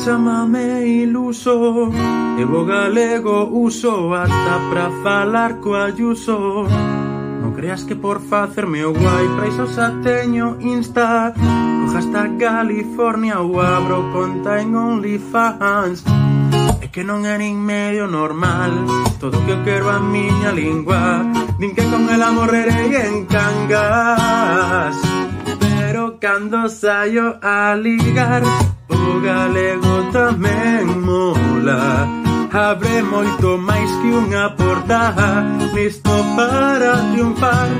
Chámame iluso, e o galego uso ata pra falar co Ayuso. Non creas que por facerme o guai pra iso xa teño Insta. Co hashtag California ou abro conta en OnlyFans. É que non é nin medio normal todo o que eu quero a miña lingua. Din que con ela morrerei en Cangas, pero cando saio a ligar o galego tamén mola. Abre moito máis que unha porta, listo para triunfar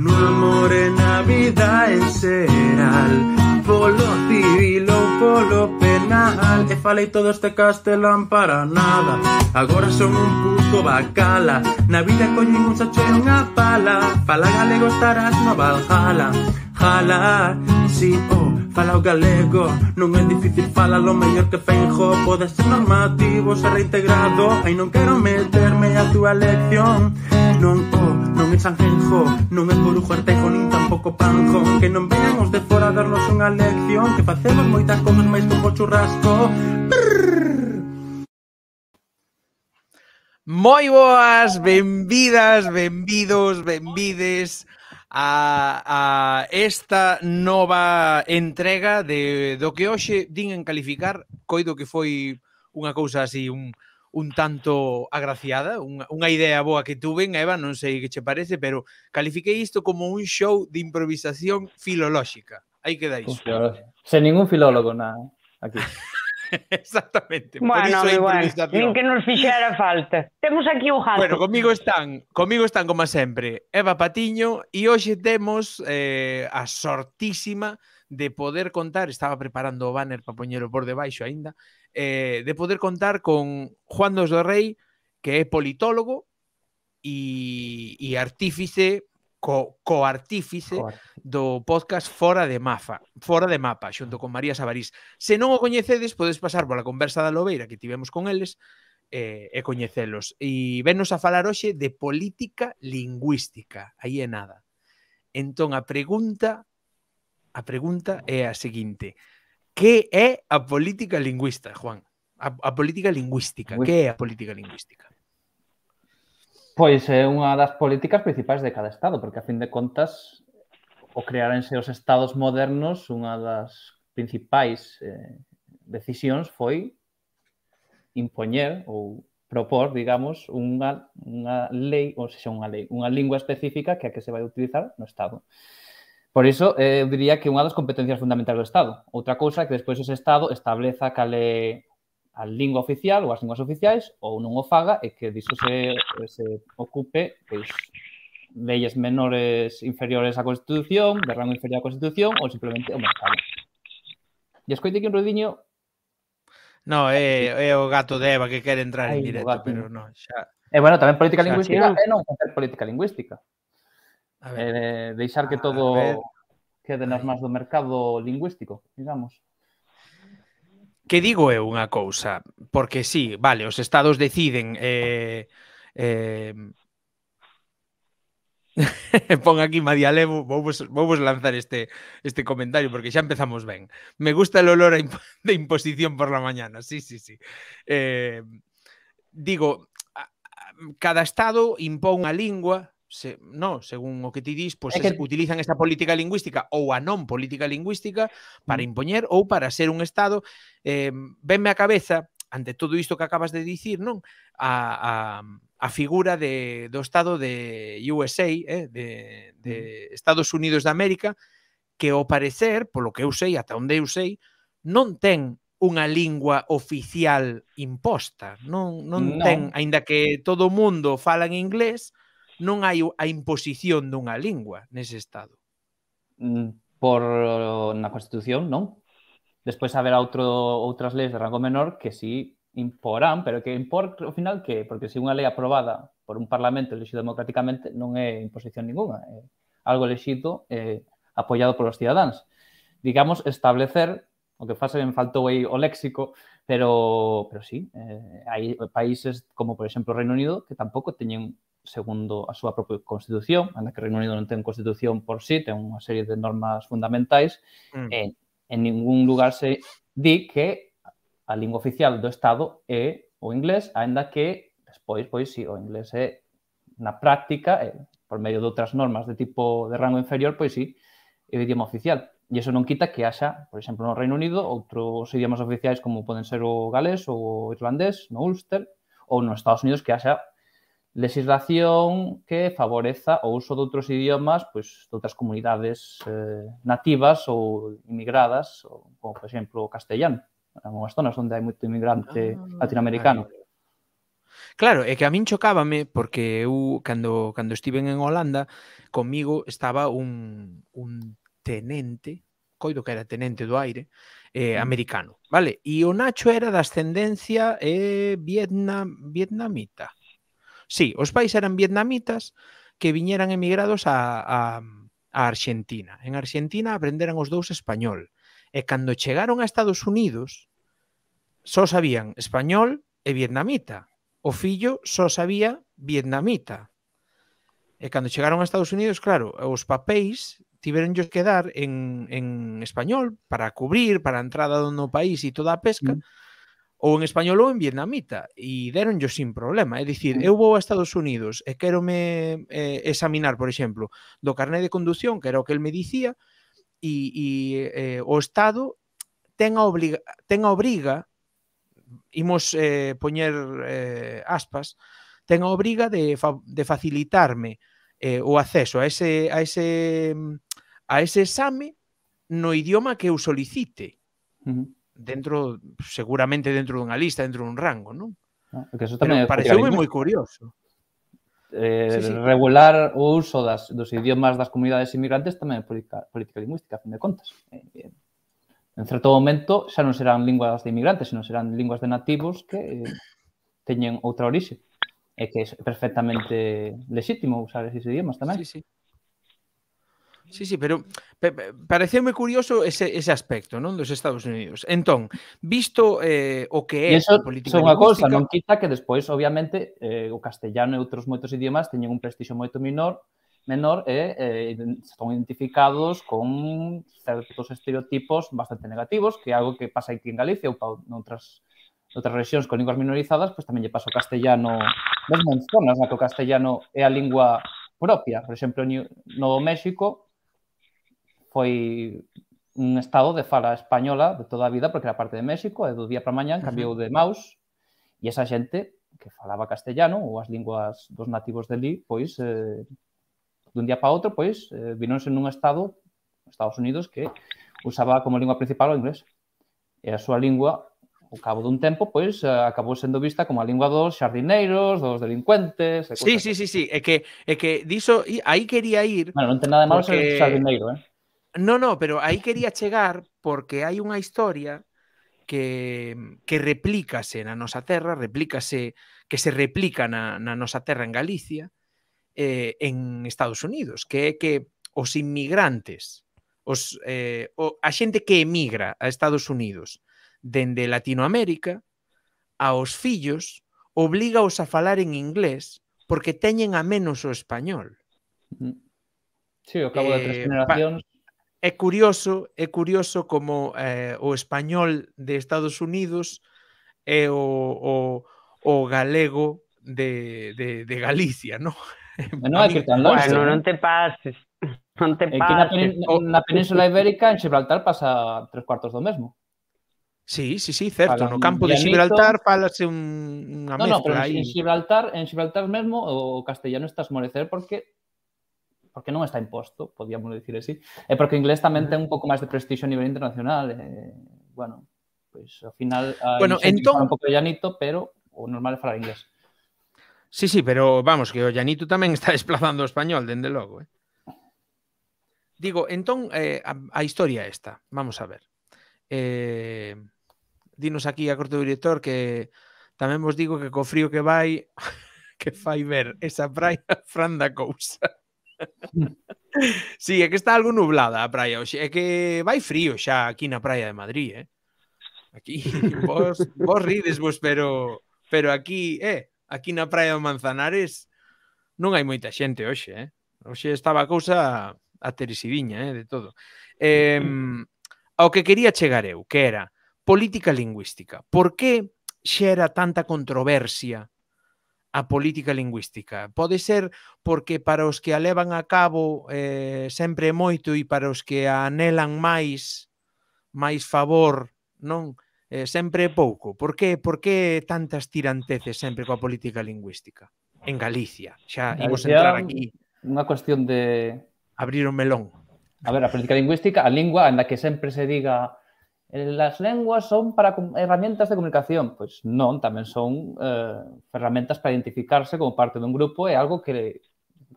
no amor e na vida en xeral, polo civil ou polo penal. E falei todo este castelán para nada, agora son un puto bacala. Na vida collín un sacho e unha pala, fala galego estarás no Valhalla. Jala, si, fala o galego, non é difícil falalo mellor que Feijóo. Pode ser normativo, ser reintegrado, ai non quero meterme a túa lección. Non é Sanjenjo, non é Corujo Artejo, nin tampouco Panjón. Que non vean os de fora a darnos unha lección, que facemos moitas cousas máis como churrasco. Moi boas, benvidas, benvidos, benvides a esta nova entrega do que hoxe din en calificar. Coido que foi unha cousa así un tanto agraciada, unha idea boa que tuven, Eva, non sei que che parece, pero califiquei isto como un show de improvisación filolóxica. Aí queda iso. Sen ningún filólogo aquí. Exactamente. Bueno, nin que nos fixera falta. Temos aquí o gato. Bueno, comigo están como sempre Eva Patiño, e hoxe temos a sortísima de poder contar, estaba preparando o banner para poñelo por debaixo aínda, de poder contar con Juan dos do Rei, que é politólogo e artífice, coartífice do podcast Fora de Mapa, xunto con María Sabarís. Se non o coñecedes, podes pasar pola conversa da Lobeira que tivemos con eles e coñecelos. E venos a falar hoxe de política lingüística. Aí é nada. Entón, a pregunta é a seguinte: que é a política lingüista, Juan? A política lingüística. Que é a política lingüística? Pois é unha das políticas principais de cada estado, porque a fin de contas o crearense os estados modernos, unha das principais decisións foi impoñer ou propor, digamos, unha lei, ou seja, unha lingua específica que é a que se vai utilizar no estado. Por iso, eu diría que unha das competencias fundamentais do estado. Outra cousa é que despois ese estado estableza cal é a lingua oficial ou as linguas oficiais, ou non o faga, e que diso se ocupe leyes menores inferiores á Constitución, de rango inferior á Constitución, ou simplemente o mercado. E escoite que un ruidiño... No, é o gato de Eva que quere entrar en directo, pero non, xa... E, bueno, tamén política lingüística é non facer política lingüística. Deixar que todo quede nas mans do mercado lingüístico, digamos. Que digo eu unha cousa, porque sí, vale, os estados deciden pon aquí Madiale, vou lanzar este comentario porque xa empezamos ben. Me gusta el olor de imposición por la mañana, sí. Digo, cada estado impón unha lingua, según o que ti dis, pois utilizan esta política lingüística ou a non política lingüística para impoñer ou para ser un estado. Venme a cabeza, ante todo isto que acabas de dicir, non? A figura do estado de USA, de Estados Unidos de América, que ao parecer, polo que eu sei, ata onde eu sei, non ten unha lingua oficial imposta. Non ten, aínda que todo o mundo fala en inglés, non hai a imposición dunha lingua nese estado. Na Constitución, non. Despois haberá outras leis de rango menor que sí imporán, pero que impor, ao final, que? Porque se unha lei aprobada por un parlamento elexido democráticamente non é imposición ninguna, é algo elexido apoiado polos cidadáns. Digamos, establecer, o que fase me faltou aí o léxico, pero sí, hai países como, por exemplo, o Reino Unido, que tampouco teñen, segundo a súa propia Constitución, anda que o Reino Unido non ten Constitución por sí, ten unha serie de normas fundamentais, en ningún lugar se di que a lingua oficial do Estado é o inglés, aínda que despois, pois, si, o inglés é na práctica, por medio de outras normas de tipo de rango inferior, pois sí, é o idioma oficial. E iso non quita que haxa, por exemplo, no Reino Unido, outros idiomas oficiais como poden ser o galés ou o irlandés, no Ulster, ou nos Estados Unidos que haxa legislación que favoreza o uso de outros idiomas, pois, de outras comunidades nativas ou inmigradas, como, por exemplo, o castellano. En unhas zonas onde hai moito inmigrante latinoamericano. Claro, é que a min chocábame porque eu, cando estiven en Holanda, comigo estaba un tenente, coido que era tenente do aire, americano, vale? E o Nacho era de ascendencia vietnamita. Sí, os pais eran vietnamitas que viñeran emigrados a Argentina. En Argentina aprenderan os dous español. E cando chegaron a Estados Unidos, só sabían español e vietnamita. O fillo só sabía vietnamita. E cando chegaron a Estados Unidos, claro, os papéis tiveronllos que dar en español para cubrir, para a entrada no país e toda a pesca, ou en español ou en vietnamita, e deronllos sin problema. É dicir, eu vou a Estados Unidos e quérome examinar, por exemplo, do carné de condución, que era o que el me dicía, e o Estado ten a obriga, imos poñer aspas, ten a obriga de facilitarme o acceso a ese exame no idioma que eu solicite. Seguramente dentro dunha lista, dentro dun rango, non? Que eso tamén pareceume moi curioso. Regular o uso dos idiomas das comunidades inmigrantes tamén é política lingüística, a fin de contas. En certo momento xa non serán linguas de inmigrantes, senón serán linguas de nativos que teñen outra orixe. É que é perfectamente lexítimo usar esos idiomas tamén. Sí, pero pareceume curioso ese aspecto, non, dos Estados Unidos. Entón, visto o que é a política lingüística... Son unha cousa, non quita que despois, obviamente, o castellano e outros moitos idiomas teñen un prestixio moito menor e son identificados con certos estereotipos bastante negativos, que é algo que pasa aquí en Galicia ou noutras rexións con linguas minorizadas, pois tamén lle pasa o castellano, mesmo en zonas na que o castellano é a lingua propia. Por exemplo, no México foi un estado de fala española de toda a vida, porque era parte de México, e do día para mañá cambiou de Maus, e esa xente que falaba castellano ou as linguas dos nativos deli, pois, dun día para outro, pois, vinonse nun estado, Estados Unidos, que usaba como lingua principal o inglés. E a súa lingua, ao cabo dun tempo, pois, acabou sendo vista como a lingua dos xardineiros, dos delincuentes... Sí. É que diso, aí quería ir... Bueno, non ten nada de malo ser xardineiro, No, pero aí quería chegar porque hai unha historia que replícase na nosa terra, que se replica na nosa terra en Galicia, en Estados Unidos, que é que os inmigrantes, a xente que emigra a Estados Unidos dende Latinoamérica, aos fillos, oblígaos a falar en inglés porque teñen a menos o español. Sí, ao cabo de 3 generacións. É curioso como o español de Estados Unidos é o galego de Galicia, non? Non hai que tan longe. Bueno, non te pases. Non te pases. Na Península Ibérica, en Gibraltar, pasa 3/4 do mesmo. Sí, certo. No campo de Gibraltar falase unha mezcla. No, pero en Gibraltar mesmo o castellano está a esmorecer porque non está imposto, podíamos dicir así. E porque o inglés tamén ten un pouco máis de prestixio a nivel internacional. Bueno, pois ao final hai xente que fala un pouco de llanito, pero o normal é falar inglés. Sí, pero vamos, que o llanito tamén está desplazando o español, dende logo. Digo, entón, a historia esta, vamos a ver. Dinos aquí a corte do director que tamén vos digo que co frío que vai que fai ver esa praia fran da cousa. Sí, é que está algo nublada a praia hoxe, é que vai frío xa aquí na praia de Madrid, Aquí vos ridesvos, pero aquí na praia do Manzanares non hai moita xente hoxe, Hoxe estaba a cousa ateresidiña, de todo. Ao que quería chegar eu, que era política lingüística. Por que xera tanta controversia a política lingüística? Pode ser porque para os que a levan a cabo sempre é moito e para os que a anhelan máis favor, non? Sempre é pouco. Por que tantas tiranteces sempre coa política lingüística? En Galicia. Xa imos entrar aquí. Unha cuestión de... Abrir o melón. A ver, a política lingüística, a lingua, en la que sempre se diga las lenguas son para herramientas de comunicación. Pois non, tamén son ferramentas para identificarse como parte dun grupo e algo que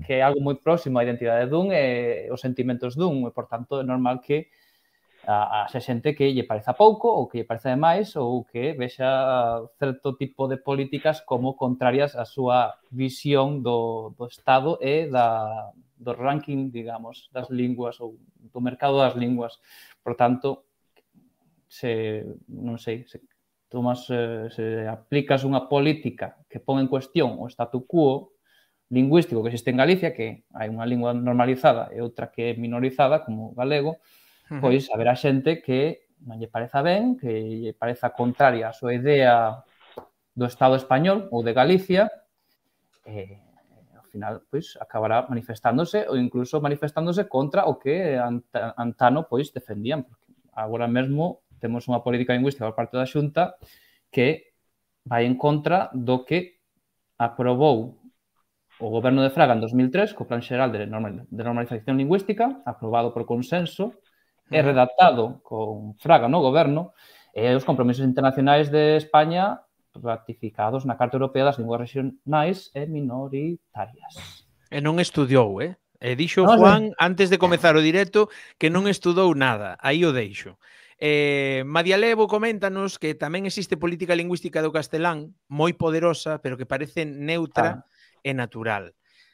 é algo moi próximo á identidade dun e os sentimentos dun. E, por tanto, é normal que a xente que lle pareza pouco ou que lle pareza demais ou que vexa certo tipo de políticas como contrarias á súa visión do Estado e do ranking, digamos, das linguas ou do mercado das linguas. Por tanto, non sei, se aplicas unha política que pon en cuestión o statu quo lingüístico que existe en Galicia, que hai unha lingua normalizada e outra que é minorizada, como o galego, pois haberá xente que non lle pareza ben, que lle pareza contraria a súa idea do Estado español ou de Galicia, e ao final pois acabará manifestándose ou incluso manifestándose contra o que antano pois defendían, porque agora mesmo temos unha política lingüística por parte da Xunta que vai en contra do que aprobou o goberno de Fraga en 2003 co Plan Xeral de Normalización Lingüística, aprobado por consenso, e redactado con Fraga no goberno, e os compromisos internacionais de España ratificados na Carta Europea das Linguas Regionais e Minoritarias. E non estudiou, E dixo Juan, antes de comezar o directo, que non estudou nada. Aí o deixo. Madialevo coméntanos que tamén existe política lingüística do castelán moi poderosa, pero que parece neutra e natural.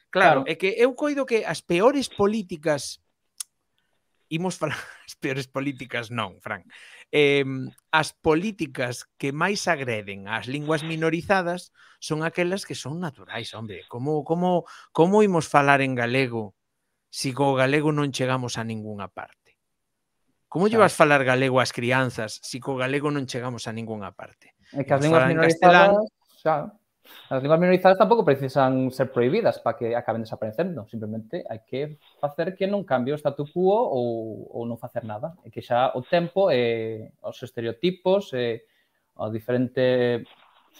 Claro, é que eu coido que as peores políticas imos falar as peores políticas non, Fran. As políticas que máis agreden ás linguas minorizadas son aquelas que son naturais, hombre. Como imos falar en galego se co galego non chegamos a ningunha parte? Como lle vas falar galego ás crianzas se co galego non chegamos a ningunha parte? É que as linguas minorizadas, as linguas minorizadas tampouco precisan ser prohibidas para que acaben desaparecendo. Simplemente hai que facer que non cambie o statu quo ou non facer nada. E que xa o tempo e os estereotipos e a diferente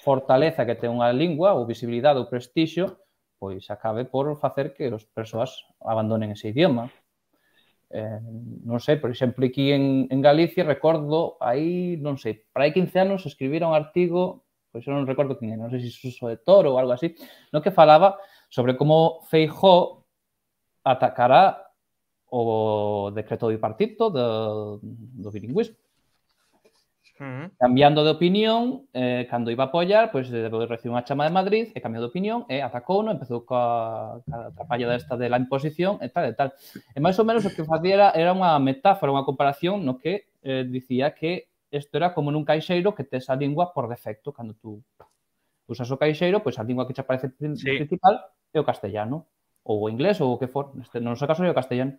fortaleza que ten unha lingua ou visibilidade ou prestixio pois acabe por facer que as persoas abandonen ese idioma. Non sei, por exemplo, aquí en Galicia recordo aí, non sei, para aí 15 anos escribira un artigo, pois eu non recordo quen é, non sei se Suso de Toro ou algo así, no que falaba sobre como Feijóo atacará o decreto bipartito do bilingüismo. Cambiando de opinión, cando iba a apoiar, pois recibiu unha chama de Madrid e cambiou de opinión e atacouno, empezou coa trapalla desta de la imposición e tal e tal. E máis ou menos o que facía era unha metáfora, unha comparación no que dicía que isto era como nun caixeiro que tes a lingua por defecto. Cando tú usas o caixeiro, pois a lingua que te aparece principal é o castellano, ou o inglés, ou o que for. No noso caso é o castellano.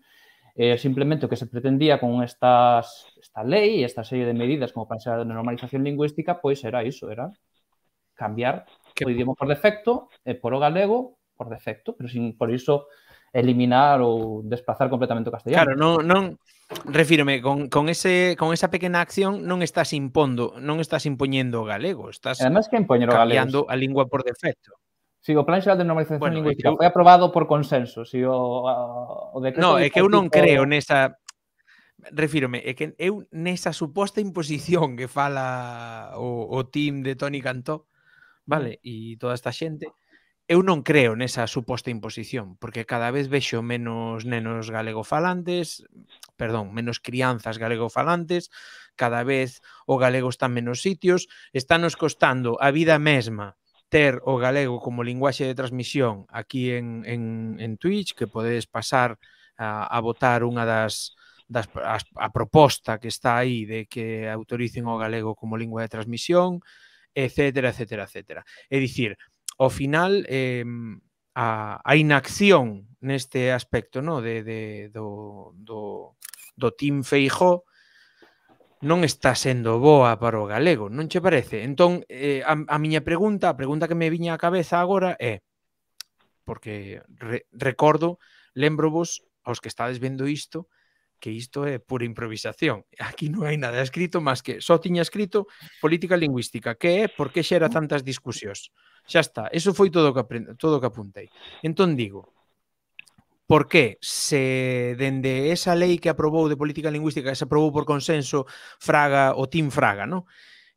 Simplemente o que se pretendía con esta lei e esta serie de medidas como para ser a normalización lingüística, pois era iso, era cambiar o idioma por defecto e por o galego por defecto, pero sin por iso eliminar ou desplazar completamente o castellano. Claro, non refírome, con esa pequena acción non estás impoñendo o galego, estás cambiando a lingua por defecto. Si, o Plan Xeral de Normalización Lingüística foi aprobado por consenso. Si o decreto... Non, é que eu non creo nesa... Refírome, é que eu nesa suposta imposición que fala o team de Toni Cantó, vale, e toda esta xente, eu non creo nesa suposta imposición, porque cada vez vexo menos nenos galegofalantes, menos crianzas galegofalantes, cada vez o galego está en menos sitios, estános costando a vida mesma ter o galego como linguaxe de transmisión aquí en Twitch, que podedes pasar a votar unha a proposta que está aí de que autoricen o galego como lingua de transmisión, etcétera, etcétera, etcétera. É dicir, ao final, a inacción neste aspecto, no, do Team Feijóo non está sendo boa para o galego, non che parece? Entón, a miña pregunta, a pregunta que me viña á cabeza agora é, porque recordo, lembrovos aos que estades vendo isto, que isto é pura improvisación. Aquí non hai nada escrito, máis que só tiña escrito política lingüística, que é por que xera tantas discusións. Xa está, eso foi todo o que apuntei. Entón digo, por que se dende esa lei que aprobou de política lingüística, que se aprobou por consenso Fraga, o Team Fraga, ¿no?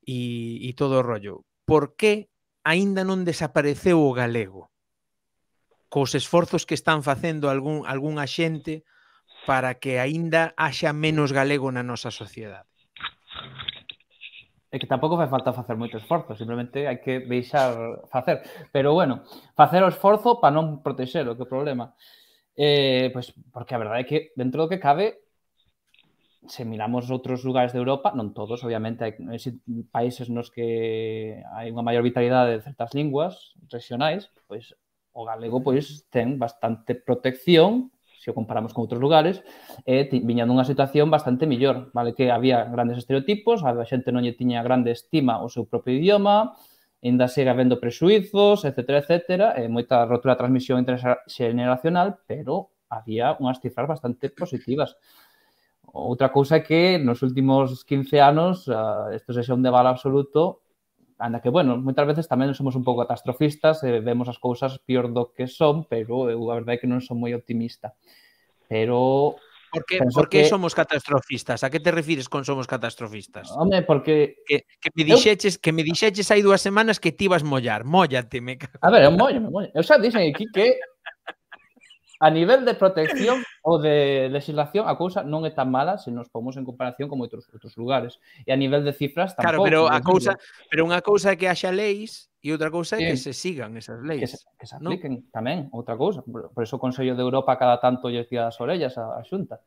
E todo o rollo, por que aínda non desapareceu o galego? Cos esforzos que están facendo algunha xente para que aínda haxa menos galego na nosa sociedade. É que tampouco fai falta facer moito esforzo, simplemente hai que deixar facer. Pero bueno, facer o esforzo para non protexer, o que é o problema. Pois porque a verdade é que dentro do que cabe, se miramos outros lugares de Europa, non todos, obviamente, hai países nos que hai unha maior vitalidade de certas linguas regionais, pois o galego pois ten bastante protección, se o comparamos con outros lugares, viña nunha situación bastante millor, vale, que había grandes estereotipos, a xente non lle tiña grande estima ao seu propio idioma, ainda segue habendo prexuizos, etcétera, etcétera, moita rotura de transmisión interxeneracional, pero había unhas cifras bastante positivas. Outra cousa é que nos últimos 15 anos isto sexa un debate absoluto, anda que, bueno, moitas veces tamén somos un pouco catastrofistas e vemos as cousas pior do que son, pero eu a verdade é que non son moi optimista. Pero... Por que somos catastrofistas? A que te refires con somos catastrofistas? Home, porque... Que me dixeches hai 2 semanas que ti vas mollar. Móllate, me cago. A ver, eu mollo. Eu xa dixen aquí que a nivel de protección ou de legislación a cousa non é tan mala se nos pomos en comparación con outros lugares. E a nivel de cifras tampouco. Claro, pero unha cousa é que haxa leis e outra cousa é que se sigan esas leis. Que se apliquen tamén, outra cousa. Por eso o Consello de Europa cada tanto lle tira as orellas a Xunta.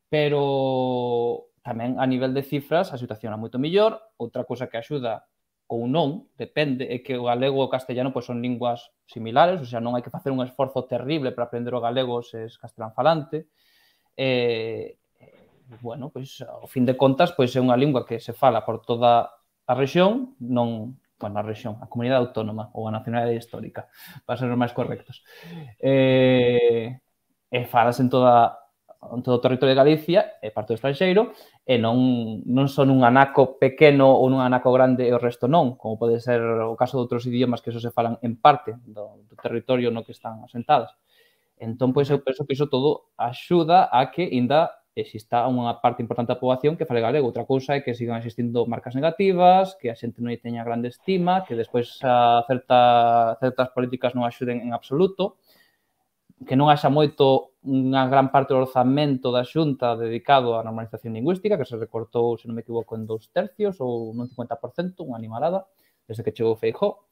Pero tamén a nivel de cifras a situación é moito mellor. Outra cousa que axuda ou non, depende, é que o galego e o castellano pois son linguas similares, ou sea, non hai que facer un esforzo terrible para aprender o galego se es castelán falante. Bueno, pois, ao fin de contas, pois é unha lingua que se fala por toda a rexión, non, bueno, a rexión, a comunidade autónoma ou a nacionalidade histórica, para ser os máis correctos. E falas en todo o territorio de Galicia e parte do estranxeiro e non son un anaco pequeno ou un anaco grande e o resto non, como pode ser o caso de outros idiomas que só se falan en parte do territorio no que están asentadas. Entón, pois, eu penso que iso todo axuda a que ainda exista unha parte importante da poboación que fale galego. Outra cousa é que sigan existindo marcas negativas, que a xente non lle teña grande estima, que despois certas políticas non axuden en absoluto, que non haxa moito unha gran parte do orzamento da Xunta dedicado á normalización lingüística, que se recortou, se non me equivoco, en 2/3 ou nun 50%, unha animalada, desde que chegou Feijóo,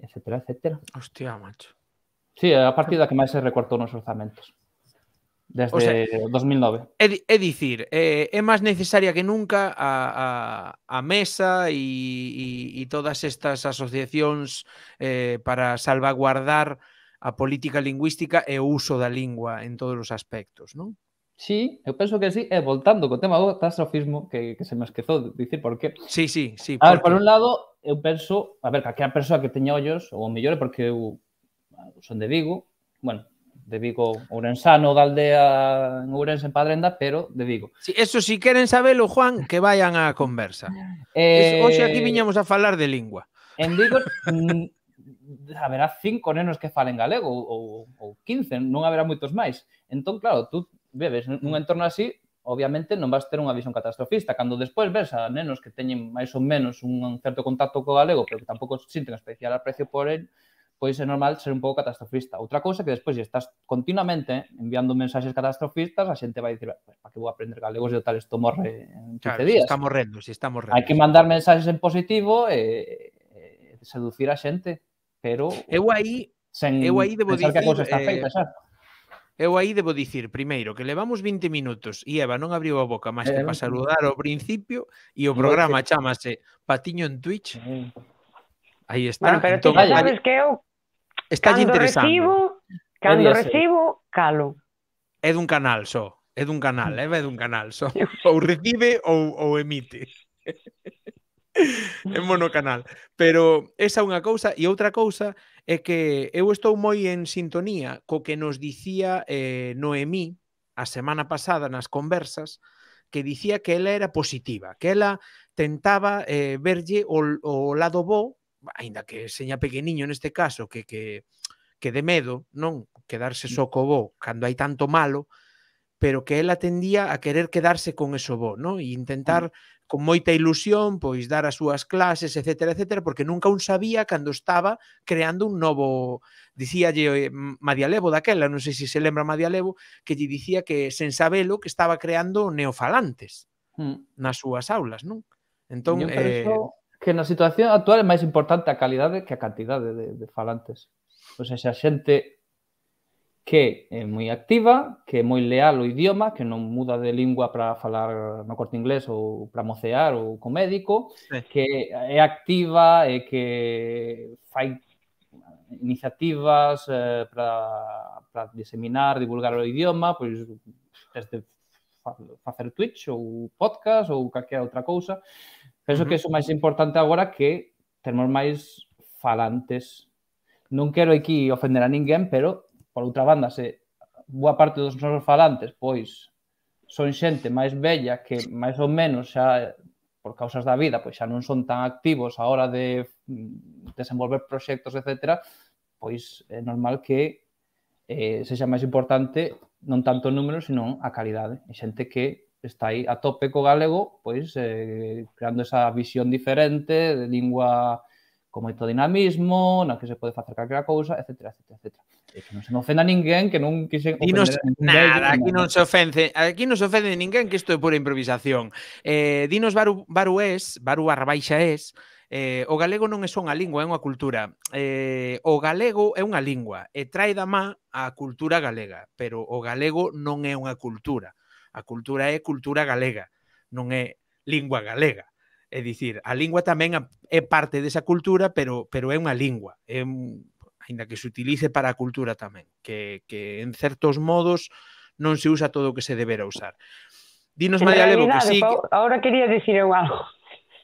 etcétera, etcétera. Hostia, macho. Sí, a partida que máis se recortou nos orzamentos. Desde 2009. É dicir, é máis necesaria que nunca a Mesa e todas estas asociacións para salvaguardar a política lingüística e o uso da lingua en todos os aspectos, non? Sí, eu penso que sí. E voltando co tema do catastrofismo, que se me esquezou de dicir por qué. Sí. A ver, por un lado, eu penso, a ver, calquera persoa que teña ollos, ou mellor é porque eu son de Vigo, bueno, de Vigo ourensano, da aldea en Ourense, en Padrenda, pero de Vigo. Sí, eso, si queren sabelo, Juan, que vayan á conversa. Hoxe aquí viñamos a falar de lingua. En Vigo haberá 5 nenos que falen galego ou 15, non haberá moitos máis. Entón, claro, tú bebes nun entorno así, obviamente non vas ter unha visión catastrofista. Cando despois ves a nenos que teñen máis ou menos un certo contacto co galego, pero que tampouco sinten especial aprecio por el, pois é normal ser un pouco catastrofista. Outra cousa que despois, se estás continuamente enviando mensaxes catastrofistas, a xente vai dicir, para que vou aprender galego se o tal isto morre en 15 días. Se está morrendo. Hai que mandar mensaxes en positivo e seducir a xente, pero eu aí debo pensar que a cousa está feita xa. Eu aí debo dicir, primeiro, que levamos 20 minutos e Eva non abriu a boca máis que para saludar ao principio e o programa chamase Patiño en Twitch. Aí está. Bueno, pero tú sabes que eu cando recibo, calo. É dun canal só. É dun canal, é dun canal. Ou recibe ou emite. É monocanal. Pero esa é unha cousa, e outra cousa é que eu estou moi en sintonía co que nos dicía Noemí a semana pasada nas conversas, que dicía que ela era positiva, que ela tentaba verlle o lado bo, aínda que seña pequeniño neste caso, que de medo, non? Quedarse só co bo cando hai tanto malo, pero que ela tendía a querer quedarse con eso bo, non? E intentar con moita ilusión, pois dar as súas clases, etcétera, etcétera, porque nunca un sabía cando estaba creando un novo, dicíalle Madia Levo daquela, non sei se se lembra Madia Levo, que lle dicía que sen sabelo que estaba creando neofalantes nas súas aulas, non? Entón, eu penso que na situación actual é máis importante a calidade que a cantidade de falantes. Ou seja, a xente que é moi activa, que é moi leal ao idioma, que non muda de lingua para falar no Corte Inglés ou para mocear ou co médico, que é activa e que fai iniciativas para diseminar, divulgar o idioma, pois desde facer Twitch ou podcast ou calquera outra cousa. Penso que é o máis importante agora que termos máis falantes. Non quero aquí ofender a ninguén, pero por outra banda, se boa parte dos nosos falantes, pois, son xente máis bella que máis ou menos xa, por causas da vida, pois xa non son tan activos a hora de desenvolver proxectos, etc., pois é normal que sexa máis importante non tanto o número, sino a calidade. E xente que está aí a tope co galego, pois, creando esa visión diferente de lingua con moito dinamismo, na que se pode facer calquera cousa, etc., etc., etc. E que non se me ofenda ninguén, que non quixen ofender a ninguén. Nada, aquí non se ofende ninguén, que isto é pura improvisación. Dinos Barués, Baru Arrabaixa es, o galego non é só unha lingua, é unha cultura. O galego é unha lingua e trae da má a cultura galega, pero o galego non é unha cultura. A cultura é cultura galega, non é lingua galega. É dicir, a lingua tamén é parte desa cultura, pero é unha lingua. Ainda que se utilice para a cultura tamén, que en certos modos non se usa todo o que se debera usar. Dinos, María Levo, que sí... Ahora quería dicir eu algo.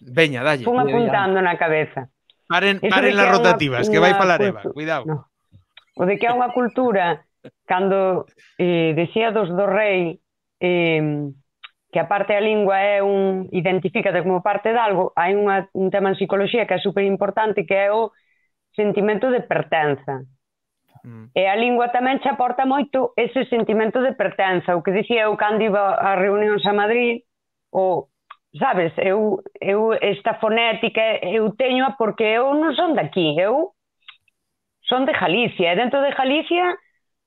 Veña, dalle. Fun apuntando na cabeza. Paren las rotativas, que vai falar Eva. Cuidado. No. O de que é unha cultura, cando decía dos do rei, que a parte da lingua é identifícate como parte de algo, hai un tema en psicología que é super importante, que é o sentimento de pertenza. E a lingua tamén che aporta moito ese sentimento de pertenza. O que dicía eu cando iba a reunións a Madrid, sabes, eu esta fonética eu teño porque eu non son daqui, eu son de Galicia, e dentro de Galicia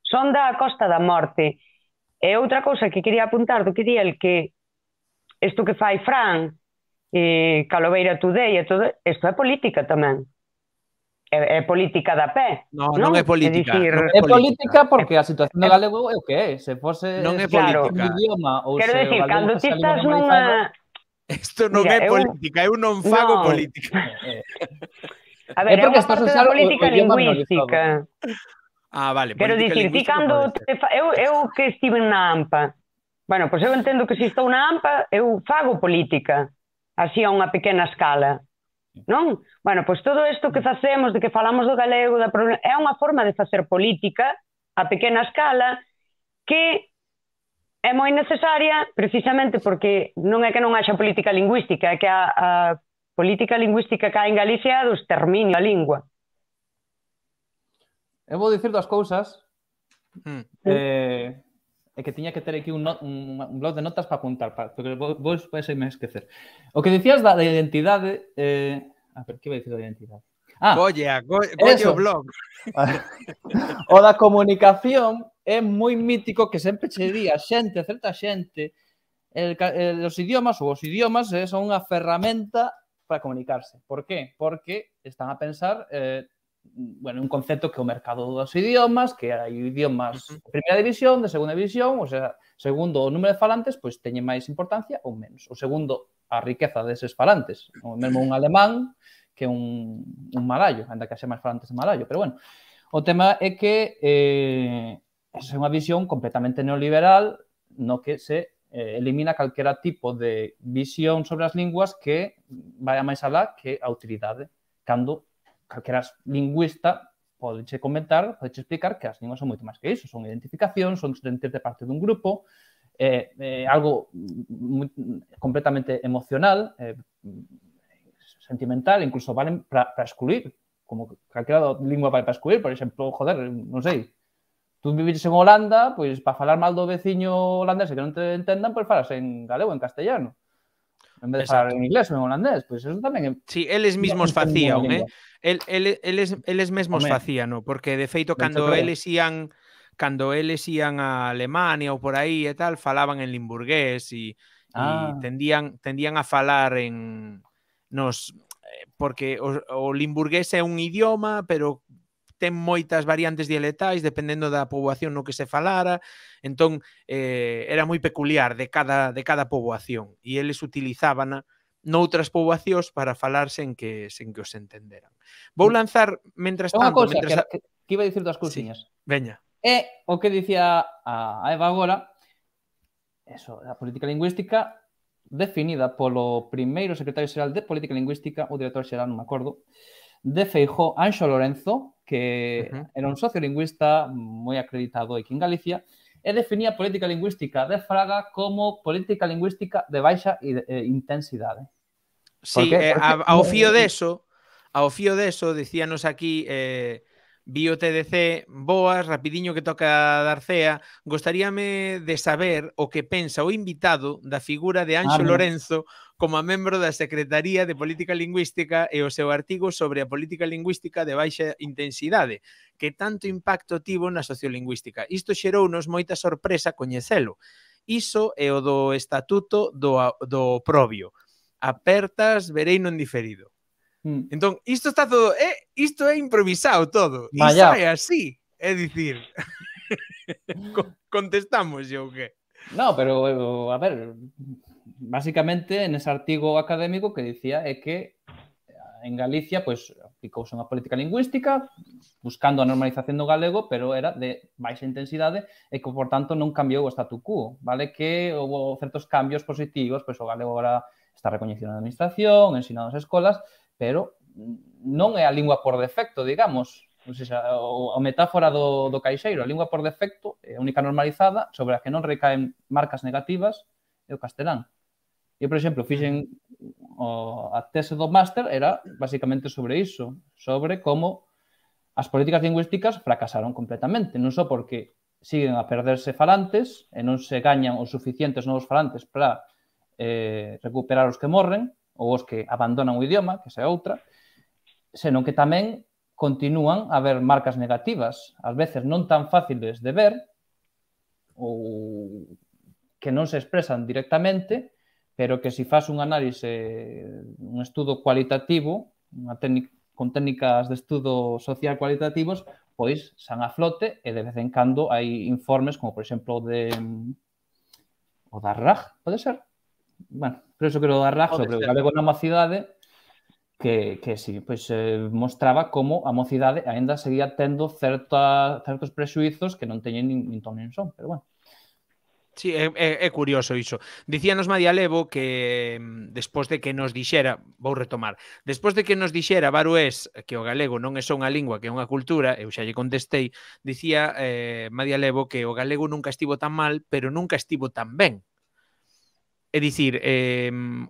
son da Costa da Morte. E outra cousa que quería apuntar do que di el, que isto que fai Fran, Caloveira Today e todo, isto é política tamén. É política da pé. Non é política. É política porque a situación do galego é o que é. Se fose non é política. Idioma ou quero se decir, cando ti estás nunha... Isto non é política, eu non fago política. A ver, é unha parte da política lingüística. Vale. Quero dicir, ti cando... Eu que estive na AMPA, bueno, pois eu entendo que se estou na AMPA, eu fago política, así a unha pequena escala, non? Bueno, pois todo isto que facemos, de que falamos do galego, é unha forma de facer política a pequena escala que é moi necesaria precisamente porque non é que non haxa política lingüística, é que a política lingüística que hai en Galicia é do exterminio da lingua. Eu vou dicir dúas cousas. É que tiña que ter aquí un blog de notas para apuntar, porque vos vais me esquecer. O que dicías da identidade... A ver, que vai dicir da identidade? Colle o blog. O da comunicación é moi mítico que sempre che di a xente, a certa xente, os idiomas son unha ferramenta para comunicarse. Por qué? Porque están a pensar... un concepto que é o mercado dos idiomas, que hai idiomas de primeira división, de segunda división, ou sea, segundo o número de falantes, pois teñen máis importancia ou menos. O segundo, a riqueza deses falantes. O mesmo un alemán que un malayo, ainda que haxe máis falantes de malayo. Pero bueno, o tema é que é unha visión completamente neoliberal no que se elimina calquera tipo de visión sobre as linguas que vai a máis alá que a utilidade, cando calquera lingüista podeche comentar, podeche explicar que as linguas son moito máis que iso, son identificacións, son sentirte parte dun grupo, algo completamente emocional, sentimental, incluso valen para excluir, como calquera lingua vai para excluir, por exemplo, joder, non sei, tú vives en Holanda, pois para falar mal do veciño holandés que non te entendan, pois falas en galego, en castellano, en vez de falar en inglés ou en holandés, pois eso tamén é... Sí, eles mismos facían, eles mesmos facían, porque de feito cando eles ían a Alemania ou por aí e tal, falaban en limburgués e tendían a falar en porque o limburgués é un idioma, pero ten moitas variantes dialectais dependendo da poboación no que se falara, entón era moi peculiar de cada poboación e eles utilizábana noutras poboacións para falar sen que os entenderan. Vou lanzar, mentras tanto... Unha cousa, que iba a dicir das cousiñas. Veña. É o que dicía a Eva agora, eso, a política lingüística definida polo primeiro secretario xeral de Política Lingüística, o director xeral, non me acordo, de Feijóo, Anxo Lorenzo, que era un sociolingüista moi acreditado aquí en Galicia, e definía a política lingüística de Fraga como política lingüística de baixa intensidade. Sí, ao fío deso, dicíanos aquí Bio TDC, boas, rapidiño que toca dar cea, gostaríame de saber o que pensa o invitado da figura de Anxo Lorenzo como a membro da Secretaría de Política Lingüística e o seu artigo sobre a política lingüística de baixa intensidade, que tanto impacto tivo na sociolingüística. Isto xerounos moita sorpresa coñecelo. Iso é o do estatuto do Oprobio. Apertas, vereino en diferido. Entón, isto está todo, isto é improvisado todo. E sai así, é dicir, contestamos yo o que? No, pero, a ver, básicamente, nese artigo académico que dicía é que en Galicia, pois, aplicouse unha política lingüística buscando a normalización do galego, pero era de baixa intensidade e que, por tanto, non cambiou o statu quo, vale? Que houve certos cambios positivos, pois o galego agora está recoñecido na administración, ensinado nas escolas, pero non é a lingua por defecto, digamos. O sea, a metáfora do caixeiro, a lingua por defecto é a única normalizada sobre a que non recaen marcas negativas é o castelán. Eu, por exemplo, fixen a tese do máster era basicamente sobre iso, sobre como as políticas lingüísticas fracasaron completamente, non só porque siguen a perderse falantes e non se gañan os suficientes novos falantes para recuperar os que morren, ou os que abandonan o idioma, que esa é outra, senón que tamén continúan a haber marcas negativas, ás veces non tan fáciles de ver, ou que non se expresan directamente, pero que se faz un análise, un estudo cualitativo, con técnicas de estudo social cualitativos, pois san a flote e de vez en cando hai informes como, por exemplo, o da RAG, pode ser? Bueno, pero eso que o da RAG sobre o galego na mocidade que sí, pois mostraba como a mocidade aínda seguía tendo certos prexuizos que non teñen nin ton nin son, pero bueno. Sí, é curioso iso. Dicíanos Madia Levo que despois de que nos dixera, vou retomar, despois de que nos dixera Barués que o galego non é só unha lingua, que é unha cultura, eu xa lle contestei, dicía Madia Levo que o galego nunca estivo tan mal, pero nunca estivo tan ben. É dicir,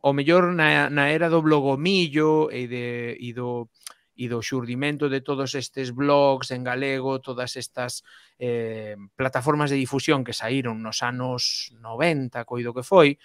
o mellor na era do blogomillo e do xurdimento de todos estes blogs en galego, todas estas plataformas de difusión que saíron nos anos 90, coido que foi,